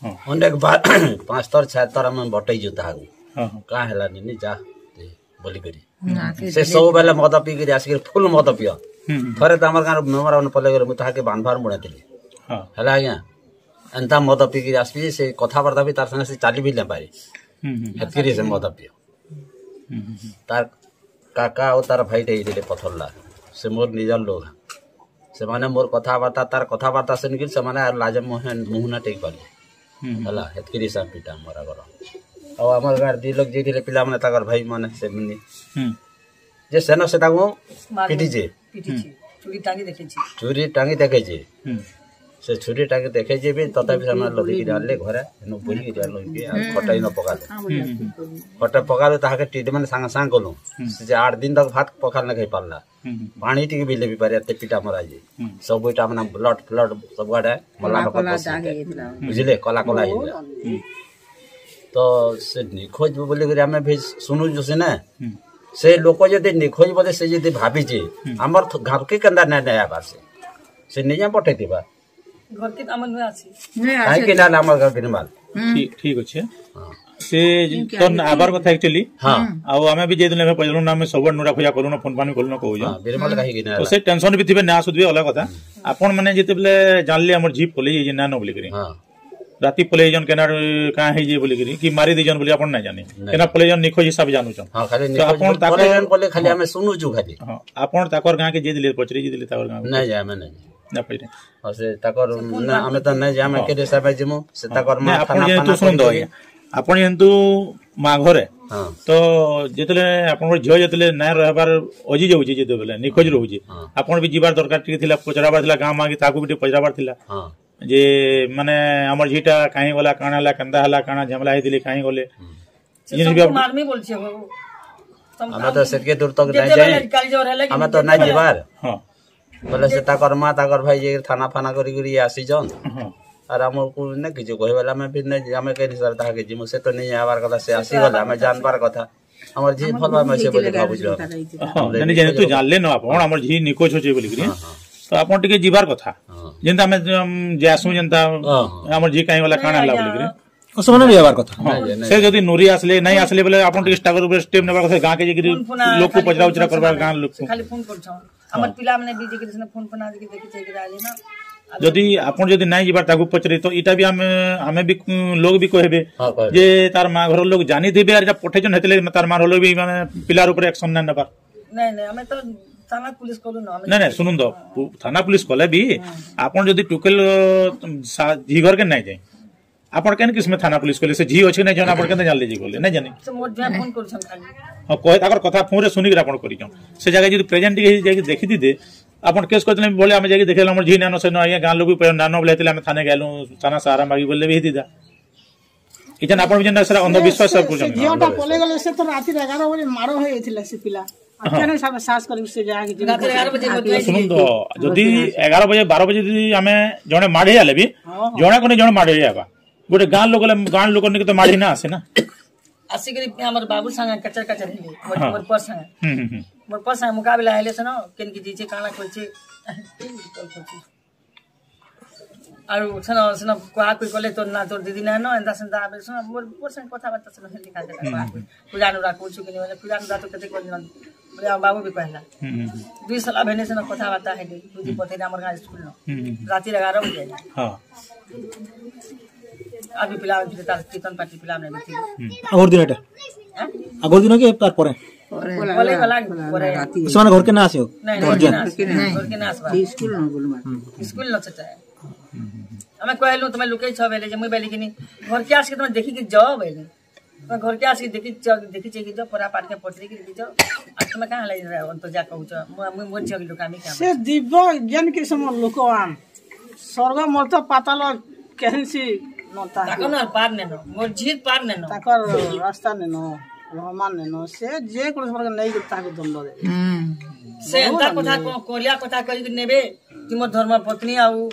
ହଁ। ଅନେକ ବାର ପାଞ୍ଚ ଥର, ଛଅ ଥର ଆମେ ବଟେଇଛୁ ତାହାକୁ। ହଁ, ହଁ। କାଁ ହେଲାନି, ନି ଯା, ତେ ବୋଲିକରି। ନା, ସେ ସେ ଦିନେ ସବୁବେଳେ ମଦ ପିଇକିରି ଆସିକିରି ଫୁଲ ମଦ ପିଅ। ହୁଁ, ହୁଁ। ଥରେ ତ ଆମର ଗାଁର ମେମ୍ବର ମାନେ ପଲେଇ ଗଲେ, ମୁଁ ତାହାକେ ବାନ୍ଧବାର ମୁଡ଼େଇଥିଲି। ହଁ। ହେଲା ଆଜ୍ଞା, ଏନ୍ତା ମଦ ପିଇକିରି ଆସିବି, ସେ କଥାବାର୍ତ୍ତା ବି ତାର ସାଙ୍ଗେ ସେ ଚାଲି ବି ଲେମ୍ବାରି। ହୁଁ, ହୁଁ, ହୁଁ। ହେତକିରି ସେ ମଦ ପିଅ। ହୁଁ, ହୁଁ, ହୁଁ। ତାର କାକା ଆଉ ତାର ଭାଇଟେ ହେଇଥିଲେ ପଥରଲା, ସେ ମୋର ନିଜର ଲୋକ। ସେମାନେ ମୋର କଥାବାର୍ତ୍ତା, ତାର କଥାବାର୍ତ୍ତା ଶୁଣିକିରି ସେମାନେ ଆଉ ଲାଜ ମୁହଁ, ମୁହଁ ନା ଟେକି ପାରିଲେ। ହୁଁ, ହୁଁ। ହେଲା, ହେତକିରି ସେ ପିଟା ମରା କର। ଆଉ ଆମର ଗାଁରେ ଦି ଲୋକ ଯାଇଥିଲେ, ପିଲାମାନେ, ତାଙ୍କର ଭାଇମାନେ, ସେମାନେ। ହୁଁ। ଯେ ସେନ ସେ ତାକୁ ମାରିଲେ। ପିଟିଛେ। ପିଟିଛେ। ହୁଁ। ଛୁରୀ ଟାଙ୍ଗି ଦେଖେଇଛେ। ଛୁରୀ ଟାଙ୍ଗି ଦେଖେଇଛେ। ହୁଁ। ସେ ଛୁରୀ ଟାଙ୍ଗି ଦେଖେଇଛେ ବି, ତଥାପି ସେମାନେ ଲଦିକିରି ଆଣିଲେ ଘରେ, ଏନୁ ବୁହିକିରି ଆଣିଲେ, ଆଉ ହୁଁ। ଖଟ ଇନ ପକାଲେ। ହୁଁ, ହୁଁ, ହୁଁ। ଖଟ ପକାଲେ, ତାହାକେ ଟ୍ରିଟମେଣ୍ଟ ସାଙ୍ଗେ ସାଙ୍ଗେ କଲୁ। ହୁଁ। ସେ ଯେ ଆଠ ଦିନ ତକ ଭାତ ପଖାଲ ନା ଖାଇ ପାରିଲା। ହୁଁ, ହୁଁ। ପାଣି ଟିକେ ବି ଲେବି ପାରେ, ଏତେ ପିଟା ମରା ଯେ। ହୁଁ। ସବୁ ଇଟା ମାନେ ବ୍ଲଡ ଫ୍ଲଡ ସବୁଆଡେ ମଲା କଲା, ରକତ କଲା ବସି ଦାଗ ହେଇଥିଲା। ହେଇଥିଲା। ବୁଝିଲେ? କଲା କଲା ହେଇଥିଲା। ହୁଁ। ତ ସେ ନିଖୋଜ ବୋଲିକରି ଆମେ ବି ଶୁଣୁଛୁ ସିନା। ହୁଁ। ସେ ଲୋକ ଯଦି ନିଖୋଜ ବୋଲେ ସେ ଯଦି ଭାବିଛେ, ହୁଁ। ଆମର ଥ-, ଘରକେ କେନ୍ତା ନାଇଁ, ନାଇଁ ଆବାର ସେ। ସେ ନିଜେ ପଠେଇଥିବା। ଘରକେ ତ ଆମର ନୁହେଁ ଆସି। ନୁହେଁ ଆସି। କାହିଁକି ନା ଆମର ଘର ବିନିମାଲ। ହୁଁ। ଠିକ, ଠିକ ଅଛେ। ହଁ। ସେ ଇନକେ ତ ଆଇଲେ ଆବାର କଥା actually। ହଁ। ଆଉ ଆମେ ବି ଯେଦିନ ଆମେ ପଇଲୁ ନା, ଆମେ ସବୁ ନୁରା ଫୁରା କଲୁ ନା, ଫୋନ ଫାନ କଲୁ ନା କହୁଛୁ। ହଁ, ବିନିମାଲ କାହିଁକି ନା ତ ହେଲା? ସେ ଟେନସନ ବି ଥିବେ, ନା ଆସୁଥିବେ, ଅଲଗା କଥା। ହୁଁ। ଆପଣ ମାନେ ଯେତେବେଳେ ଜାଣିଲେ ଆମର ଝି ପଲେଇ ଯାଇଛି ନା, ନ ବୋଲିକରି। ହଁ। ରାତି ପଲେଇ ଯାଇଛନ୍, କେନା କାଁ ହେଇଛି ବୋଲିକରି, କି ମାରି ଦେଇଛନ୍ ବୋଲି ଆପଣ ନାଇଁ ଜାନି। ନାଇଁ। କେନା ପଲେଇ ଯାଇଛନ୍, ନିଖୋଜ ହିସାବ ଜାନୁଛନ୍। ହଁ, ଖାଲି ତ ନିଖୋଜ ଆପଣ ତାକୁ ପଲେଇ ଯାଇଛନ୍ ବୋଲେ ଖାଲି ହଁ। ଆମେ ଶୁଣୁଛୁ ଖାଲି। ହଁ, ଆପଣ ତାକର ଗାଁ କେ ଯାଇଥିଲେ, ପଚରି ଯାଇଥିଲେ ତାକର ଗାଁ କେ? ନାଇଁ, ଯେ ଆମେ ନାଇଁ। ନା ପଚରି। ଆଉ ସେ ତାକର ସେ ଫୋନ ନା, ଆମେ ତ ନାଇଁ ଯେ ଆମେ ହଁ। କେତେ ହିସାବ ଯିମୁ, ସେ ହଁ। ତାକର ନାଇଁ, ମା ଆପଣ ଥାନା ଯେହେତୁ ଫାନା ଶୁଣନ୍ତୁ କରିକି ଆଜ୍ଞା, ଆପଣ ଯେହେତୁ ମା ଘରେ, ହଁ। ତ ଯେତେବେଳେ ଆପଣଙ୍କର ଝିଅ ଯେତେବେଳେ ନାଇଁ ରହିବାର ଅଜି ଯାଉଛି, ଯେତେବେଳେ ନିଖୋଜ ରହୁଛି, ହଁ। ଆପଣ ବି ଯିବାର ଦରକାର ଟିକେ ଥିଲା, ପଚରାବାର ଥିଲା, ଗାଁ ମା କି ତାକୁ ବି ଟିକେ ପଚରାବାର ଥିଲା। ହଁ। ଯେ ମାନେ ଆମର ଝିଟା କାହିଁ ଗଲା, କାଣା ହେଲା, କେନ୍ତା ହେଲା, କାଣା ଝାମେଲା ହେଇଥିଲେ, କାହିଁ ଗଲେ? ହୁଁ। ସେ ଇଏ ସବୁ ବି ଆପ- ମାରମି ବୋଲଛେ ହୋ। ତମ ଆମେ ତ ସେତକେ ଦୂର ତକ ନାଇଁ ଯେତେବେଳେ ଯାଏ। କାଲି ଜୋର ହେଲେ କି ଆମେ ତ ନାଇଁ ଯେତେବେଳେ ଯିବାର। ହଁ। ବୋଲେ ସେ ତାକର ମା, ତାକର ଭାଇ ଯେ ଥାନା ଫାନା କରି କରି ଆସିଛନ୍। ହଁ। ଆର୍ ଆମକୁ ନା କିଛି କହିବାଲା ଆମେ ବି ନାଇଁ, ଆମେ କେନ୍ ହିସାବରେ ତାହାକେ ଯିମୁ, ସେ ତ ନାଇଁ ଆବାର କଥା, ସେ ସେ ତ ଆସିଗଲେ, ଆବାର ଆମେ କଥା। ଜାନବାର କଥା। ଆମର ଝି ଭଲ ଭାବେ ସେ ବୋଲି ଭାବୁଛୁ ଆମେ। ହଁ, ନାଇଁ, ନାଇଁ, ଯେହେତୁ ଜାନଲେ ନ ଆପଣ, ଆମର ଝି ନିଖୋଜ ଅଛେ ବୋଲିକିରି, ହଁ, ହଁ। ତ ଆପଣ ଟିକେ ଯିବାର କଥା। ହଁ। ଯେନ୍ତା ଆମେ, ଉଁ, ଯାଏସୁଁ, ଯେନ୍ତା ହଁ, ହଁ। ଆମର ଝି କାହିଁ ଗଲା, କାଣା ହେଲା ନାଇଁ, ବୋଲିକିରି। ନାଇଁ। ଓ, ସେମାନେ ବି ହେବାର କଥା। ହଁ। ନାଇଁ, ନାଇଁ। ସେ ଯଦି ନୁରି ଆସିଲେ, ନାଇଁ ଆସିଲେ ବୋଲେ ଆପଣ ଟିକେ ଷ୍ଟାଗର ଉପରେ ଷ୍ଟେପ ନେବାର କଥା, ଗାଁକେ ଯାଇକିରି ଫୋନ ଫୋନ ଲୋକକୁ ଖାଲି ପଚରା ଫୋନ ଉଚରା ଫୋନ କରବାର, ସେମାନେ ଗାଁ ଲୋକକୁ। ଖାଲି ଫୋନ କରୁଛନ୍। ଆମର ହଁ। ପିଲାମାନେ ବି ଯାଇକିରି ସିନା ଫୋନ ଫୋନ ଆଜିକି ଦେଖି ଚାହିଁକିରି ଆଇଲେ ନା। ଆଉ ଯଦି ଆପଣ ଯଦି ନାଇଁ ଯିବାର ତାକୁ ପଚରେ, ତ ଇଟା ବି ଆମେ, ଆମେ ବି, ଉଁ, ଲୋକ ବି କହିବେ ହଁ, କହିବେ। ଯେ ତାର ମା ଘର ଲୋକ ଜାନିଥିବେ, ଆର୍ ଇଟା ପଠେଇଛନ୍, ହେତେଲେ ତାର ମା ଘର ଲୋକ ବି ମାନେ ପିଲାର ଉପରେ ଆକ୍ସନ ନାଇଁ ନେବାର। ନାଇଁ, ନାଇଁ, ଆମେ ତ ଥାନା ପୁଲିସ କଲୁ ନା, ଆମେ ନାଇଁ, ନାଇଁ, ଶୁଣନ୍ତୁ, ପୁ-, ଥାନା ପୁଲିସ କଲେ ବି ହଁ। ଆପଣ ଯଦି ଟୁକେଲ, ଅ, ସା-, ଝି ଘରକେ ନାଇଁ ଯାଏ, ଆପଣ କେନ୍ କିସମେ ଥାନା ପୁଲିସ କଲେ? ସେ ଝି ଅଛେ କି ନାଇଁ ଜଣା, ଆପଣ କେନ୍ତା ଜାଣିଲେ ଯେ ଗଲେ? ନାଇଁ ଜାନି। ସେ ମୋର ଝିଅ ଫୋନ କରୁଛନ୍ ଖାଲି। ହଁ, କହେ, ତାଙ୍କର କଥା ଫୋନରେ ଶୁଣିକିରି ଆପଣ କରିଛନ୍। ସେ ଜାଗାରେ ଯଦି ପ୍ରେଜେଣ୍ଟ ଟିକେ ହେଇ ଯାଇକି ଦେଖିଥିତେ, ଆପଣ କେସ୍ କରିଥିଲେ ଭଳି ଆମେ ଯାଇକି ଦେଖିଲେ, ଆମର ଝି ନାଇନ, ସେ ନ ଆଜ୍ଞା, ଗାଁ ଲୋକ ବି ନାଇନ ବୋଲେ, ହେତେଲେ ଆମେ ଥାନା ଗେଲୁ, ଥାନା ସାହାରା ମାଗି ବୋଲେ ବି ହେଇଥିତା। ଇଛନ୍ ଆପଣ ବି ଯେନ୍ତା ସେଟା ଅନ୍ଧବିଶ୍ୱାସ ସେ, ସେ କରୁଛନ୍। ଝିଅଟା ପଳେଇ ଗଲେ, ସେ ତ ରାତିରେ ଏଗାର ବଜେ ମାଡ଼ ହେଇଯାଇଥିଲା ସେ ପିଲା। ଆଉ ହଁ। କେନ ସାହସ କରିବି ସେ ଜାଗାକେ ଯିବି? ରାତିରେ ଏଗାର ବଜେ ମତେ ଶୁଣନ୍ତୁ, ଯଦି ଏଗାର ବଜେ, ବାର ବଜେ ଯଦି ଆମେ ଜଣେ ମାଡ଼ ହେଇଗଲେ ବି, ହଁ, ହଁ। ଜଣେ କୁ ନାଇଁ ଜଣେ ମାଡ଼ ହେଇଯିବା। ଗୋଟେ ଗାଁ ଲୋକ ହେଲେ, ଗାଁ ଲୋକ ନିକେ ତ ମାଡ଼ ହିଁ ନା ଆସେ ନା। ଆସିକରି ଆମର ବାବୁ ସାଙ୍ଗେ କଚର କଚର ହେଲେ, ମୋର, ହଁ। ମୋର ପୁଅ ସାଙ୍ଗେ। ହୁଁ, ହୁଁ, ହୁଁ। ମୋର ପୁଅ ସାଙ୍ଗେ ମୁକାବିଲା ହେଲେ ସେନ, କେନ୍ କି ଯାଇଛେ, କାଣା କରିଛେ, କଲ୍ କରିଛେ। ଆଉ ସେନ, ସେନ କୁହା କୁଇ କଲେ, "ତୋର ନା, ତୋର ଦିଦି ନାଇନ, ଏନ୍ତା ସେନ୍ତା।" ଆବେ ସେନ ମୋର, ମୋର ସାଙ୍ଗେ କଥାବାର୍ତ୍ତା ସେନ ହେଲି, କାଁ ଦେଲା, ହୁଁ, କୁହା ହୁଁ। କୁଇ। "ପୂଜା ନୁରା କହୁଛୁ କି ନି?" ବୋଲେ, "ପୂଜା ନୁରା ତ କେତେ କରିନ?" ବୋଲେ, ଆମ ବାବୁ ବି କହିଲା। ହୁଁ, ହୁଁ, ହୁଁ। ଦୁଇ ସଲା ଭେନେ ସେନ କଥାବାର୍ତ୍ତା ହେଲି, ଦୁଦି ହୁଁ। ପଥେଇଲେ ଆମର ଗାଁ ସ୍କୁଲ ନ। ହୁଁ, ହୁଁ, ହୁଁ। ରାତିରେ ଏଗାର ବଜେ। ହଁ। ଆଉ ବି ପିଲା, ତାର କୀର୍ତ୍ତନ ପାର୍ଟି ପିଲା ଆମେ ବି ଥିଲେ। ହୁଁ। ଆଗର ଦିନ ଏଟା? ଆଁ? ଆଗର ଦିନ କି ତାର ପରେ? ପରେ। ପଳେଇ ଗଲା, ପଳେଇ ଗଲା, ପରେ। ରାତି। ସେମାନେ ଘରକେ ନା ଆସିବ? ନାଇଁ, ଘରକେ ଘରକେ ନା। ନା ଆସିବ। ନାଇଁ। ଘରକେ ନା ଆସିବା। ସ୍କୁଲ ନ ଗଲୁ ମା। ହୁଁ। ସ୍କୁଲ ନ ସେଟା। ଆମେ କହିଲୁ, "ତମେ ଲୁକେଇ ଛ ବେଲେ ଯେ", ମୁଇଁ ବେଲେ କିନି, "ଘରକେ ଆସିକି ତମେ ଦେଖିକି ଯାଅ" ବେଲେ। "ତମେ ଘରକେ ଆସିକି ଦେଖି ଯାଅ, ଦେଖି ଯାଇକି ଯାଅ, ପରା ପାଠକେ ପଚରିକି ଦେଖି ଯାଅ। ଆଉ ତମେ କାଁ ହେଲା ଅନ୍ତ ଯା କହୁଛ? ମୁଁ, ମୁଁ, ମୋ ଝିଅ କି ଲୁକାମି କାଁ?" ସେ ଦିବ ଯେନ୍ କିସମ ଲୋକ ଆନ୍। ସ୍ୱର୍ଗ ମର୍ତ୍ତ୍ୟ ପାତାଳ କେହେନ୍ସି ନତା। ତାକର ନା ପାର ନେନ, ମୋର ଝିର ପାର ନେନ। ତାକର ରାସ୍ତା ନେନ, ରହମାନ ନେନ, ସେ ଯେ କୌଣସି ପ୍ରକାର ନେଇକି ତାହାକୁ ଦଣ୍ଡ ଦେବେ। ହୁଁ। ସେ ଏନ୍ତା ବହୁତ କଥା, କଣ କରିବା କଥା କରିକି ନେବେ, ତୁମ ଧର୍ମ ପତ୍ନୀ ଆଉ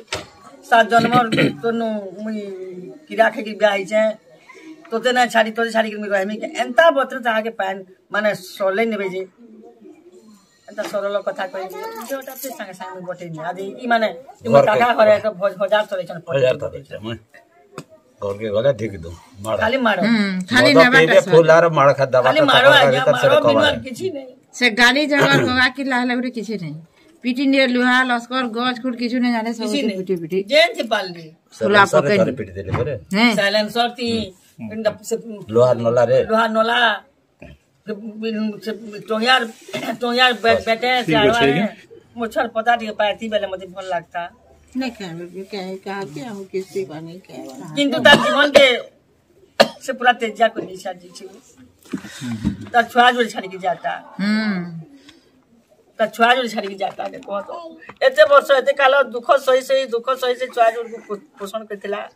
ସାତ ଜନ୍ମର ତନୁ ମୁଇଁ କିରା ଖାଇକି ବିଆ ହେଇଛେ, ତୋତେ ନା ଛାଡ଼ି, ତୋତେ ଛାଡ଼ିକି ମୁଇଁ ରହିମି, ଏନ୍ତା ବତରେ ତାହାକେ ପାନ୍, ମାନେ, ସଲେଇ ନେବେ ଯେ। ଏନ୍ତା ସରଳ କଥା କହିଲି, ଝିଅଟା ସେ ସାଙ୍ଗେ ସାଙ୍ଗେ ମୁଇଁ ବଟେଇନି। ଆଜି ଇ ମାନେ, ଇ ମୋ ଘରକେ କାକା ଘରେ ତ ଭଜ-, ହଜାର ଥର ଇଛନ୍ ହଜାର ଥର ପଟେଇ ଇଛନ୍, ମୁଇଁ ଘରକେ ଗଲେ ଢିକି ଦଉଁ, ମାଡ଼। ଖାଲି ମାଡ଼। ହୁଁ, ଖାଲି ମଦ ନେବାଟା ପିଇବେ, ସହଜ। ଫୁଲ ଆର ମାଡ଼ ଖା ଦବା ଖାଲି ତା ମାଡ଼, ଘର ଆଜ୍ଞା, ଭିତରେ ମାଡ଼, ସେଟା ବିନୁଆର କବାଡ। କିଛି ନାଇଁ। ସେ ଗାଲି ଜବାବ ହବା କି ଲାହଲେ ଗୋଟେ କିଛି ନାଇଁ। ପିଟି ନିଏ ଲୁହା, ଲସ୍କର, ଗଛ, ଖୁଟ କିଛି ନାଇଁ ଜାନେ, ସବୁ କିଛି ସେ ନାଇଁ। ପିଟି ପିଟି। ଯେନ୍ ଥି ପାରଲି। ଫୁଲା ସାଇଲେନ୍ସରରେ ପକେଇ ଥରେ ନି। ପିଟି ଦେଲେ ପରେ। ହେଁ। ସାଇଲେନ୍ସର ଥି, ହୁଁ। ଏନ୍ତା ସେ ଲୁହା ନଲାରେ। ଲୁହା ନଲା। ସେ, ସେ ଟଙ୍ଗିଆର, ଟଙ୍ଗିଆର ବେ-, ବେଟେ, ସେ ଠିକ୍ ଅଛି, ଆଡ଼ୁଆରେ, ଆଜ୍ଞା। ମୋ ଛୁଆର ପତା ଟିକେ ପାଇତି ବେଲେ ମତେ ଭଲ ଲାଗତା। ନାଇଁ ଖାଇବେ, କାହିଁ, କାହାକେ ଆଉ କିଛି ପାନି ଖାଇବା। କିନ୍ତୁ ତାର ଜୀବନକେ ସେ ପୁରା ତେଜିଆ କରି ଦେଇଛି ଆଜି। ତାର ଛୁଆ ଯୋଡ଼ି ଛାଡ଼ିକି ଯାତା। ହୁଁ। ତାର ଛୁଆ ଯୋଡ଼ି ଛାଡ଼ିକି ଯାତା, ଦେଖ ତ। ଏତେ ବର୍ଷ, ଏତେ କାଳ ଦୁଃଖ ସହି ସହି, ଦୁଃଖ ସହି ସହି ଛୁଆ ଯୋଡ଼ିକୁ ପୋ-, ପୋଷଣ କରିଥିଲା।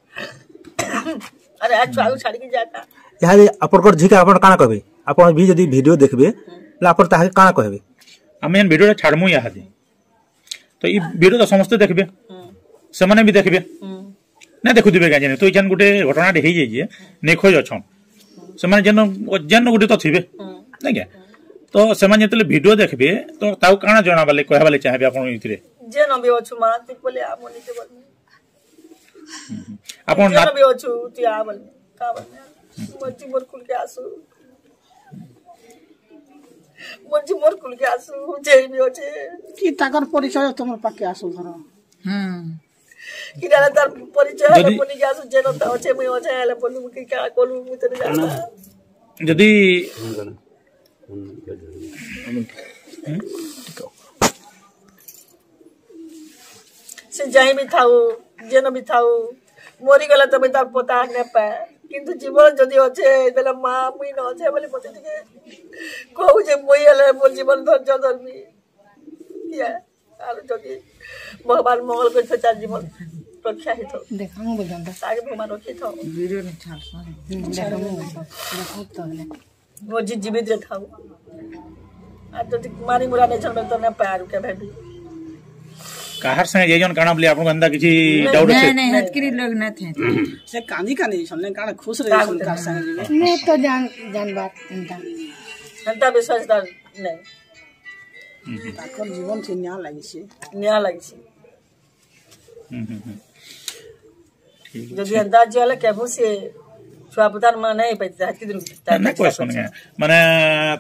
ଆରେ, ଆ ଛୁଆକୁ ଛାଡ଼ିକି ଯାତା। ଇହାଦେ ଆପଣଙ୍କର ଝିଅକେ ଆପଣ କାଣା କହିବେ? ଆପଣ ବି ଯଦି ଭିଡ଼ିଓ ଦେଖିବେ, ହୁଁ। ତାହେଲେ ଆପଣ ତାହାକେ କାଣା କହିବେ? ଆମେ ଏନ୍ ଭିଡ଼ିଓଟା ଛାଡ଼ମୁ ଇହାଦେ। ତ ଇ ଭିଡ଼ିଓ ତ ସମସ୍ତେ ଦେଖିବେ। ହୁଁ। ସେମାନେ ବି ଦେଖିବେ। ହୁଁ। ନାଇଁ ଦେଖୁଥିବେ କାଁ ଜାନି। ତ ଇଛନ୍ ଗୋଟେ ଘଟଣାଟେ ହେଇଯାଇଛି, ନିଖୋଜ ଅଛନ୍। ସେମାନେ ଯେନ, ଯେନ ଗୋଟେ ତ ଥିବେ। ହୁଁ। ନାଇଁ କାଁ? ତ ସେମାନେ ଯେତେବେଳେ ଭିଡ଼ିଓ ଦେଖିବେ, ତ ତାକୁ କାଣା ଜଣାବାଲେ, କହିବାଲେ ଚାହିଁବେ ଆପଣ ଏଥିରେ? ଯେନ ବି ଅଛୁ ମା, ତୁ ପଲେ ଆ, ମନି ତେ ବଲ। ଆପଣ ଯେନ ନା- ବି ଅଛୁ, ତୁ ଆ ବଲ। କା ବଲ? ମର୍ଜି ମୋର କୁଲକେ ଆସୁ। ମର୍ଜି ମୋର କୁଲକେ ଆସୁ, ଯେ ବି ଅଛେ। କି ତାଙ୍କର ପରିଚୟ ତମର ପାଖେ ଆସୁ ଧର। ହୁଁ। କି ଜାଣେ ତାର ପରିଚୟ ହେଲେ ଯଦି- ବୋଲିକି ଆସୁ, ଯେ ନତା ଅଛେ, ମୁଇଁ ଅଛେ, ହେଲେ ବୋଲି ମୁଁ କି କା କଲୁ, ମୁଁ ତୋର ଜାଣେ। ଯଦି ସେ ଯାଇ ବି ଥାଉ, ଯେନ ବି ଥାଉ, ମରିଗଲେ ତ ମୁଇଁ ତାର ପତା ନେ ପାଏ। କିନ୍ତୁ ଜୀବନ ଯଦି ଅଛେ, ବେଲେ ମା, ମୁଇଁ ନ ଅଛେ ବୋଲି ମତେ ଟିକେ କହୁ ଯେ ମୁଇଁ ହେଲେ ମୋର ଜୀବନ ଧୈର୍ଯ୍ୟ ଧରମି। ଇଏ, ଆରୁ ଯଦି ଭଗବାନ ମଙ୍ଗଳ କରିଥିବ, ତାର ଜୀବନ ରକ୍ଷା ହେଇଥିବ। ଦେଖାମୁ ବୁଝନ୍ତା। ତାକେ ଭଗବାନ ରଖିଥିବ। ଭିଡ଼ିଓ ନି ଛାଡ଼ସନ୍। ଦେଖାମୁ ବୁଝନ୍ତା। ଦେଖ ତ ହେଲେ। ମୋ ଜି-, ଜୀବିତ ରେ ଥାଉ। ଆଉ ଯଦି ମାରି ମୁରା ନେଇଛନ୍, ବେଲେ ତ ନା ପାରୁ କେବେ ବି। କାହାର ସାଙ୍ଗେ ଯାଇଛନ୍ କାଣା ବୋଲି ଆପଣଙ୍କୁ ଏନ୍ତା କିଛି ନାଇଁ, ଡାଉଟ୍ ଅଛି? ନାଇଁ, ନାଇଁ, ହେତକିରି ଲୋକ ନାଇଁ ଥାଇ। ସେ କାନ୍ଦି କାନ୍ଦି ଯାଇଛନ୍, ନାଇଁ କାଣା ଖୁସ୍ ରେ ଯାଇଛନ୍, କାହା ସାଙ୍ଗେ ଯିବେ? ମୁଁ ତ ଜାଣ-, ଜାଣବାର ଏନ୍ତା। ଏନ୍ତା ବିଶ୍ୱାସ ତାର ନାଇଁ। ତାଙ୍କର ଜୀବନ ସେ ନିଆଁ ଲାଗିଛି। ନିଆଁ ଲାଗିଛି। ହୁଁ, ହୁଁ, ହୁଁ। ଯଦି ଏନ୍ତା ଆଜି ହେଲେ କେବେ ସେ ଛୁଆ ପୁତାର ମା ନାଇଁ ପାଇତେ, ହେତ୍କି ଦିନ ନା, ନା, କହେସନ୍ କେ। ମାନେ,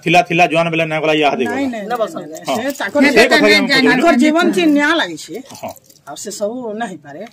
ଥିଲା, ଥିଲା, ଜୁଆନ ବେଲେ ନାଇଁ ଗଲା, ଇହାଦେ ଗଲା। ନାଇଁ, ନାଇଁ, ନା, ବସନ୍। ହଁ। ସେ ତାଙ୍କର ସେ କଥା ବି ଆମେ ଜାଣି- ତାଙ୍କର ଜୀବନ ସେ ନିଆଁ ଲାଗିଛି। ହଁ। ଆଉ ସେ ସବୁ ନାଇଁ ପାରେ।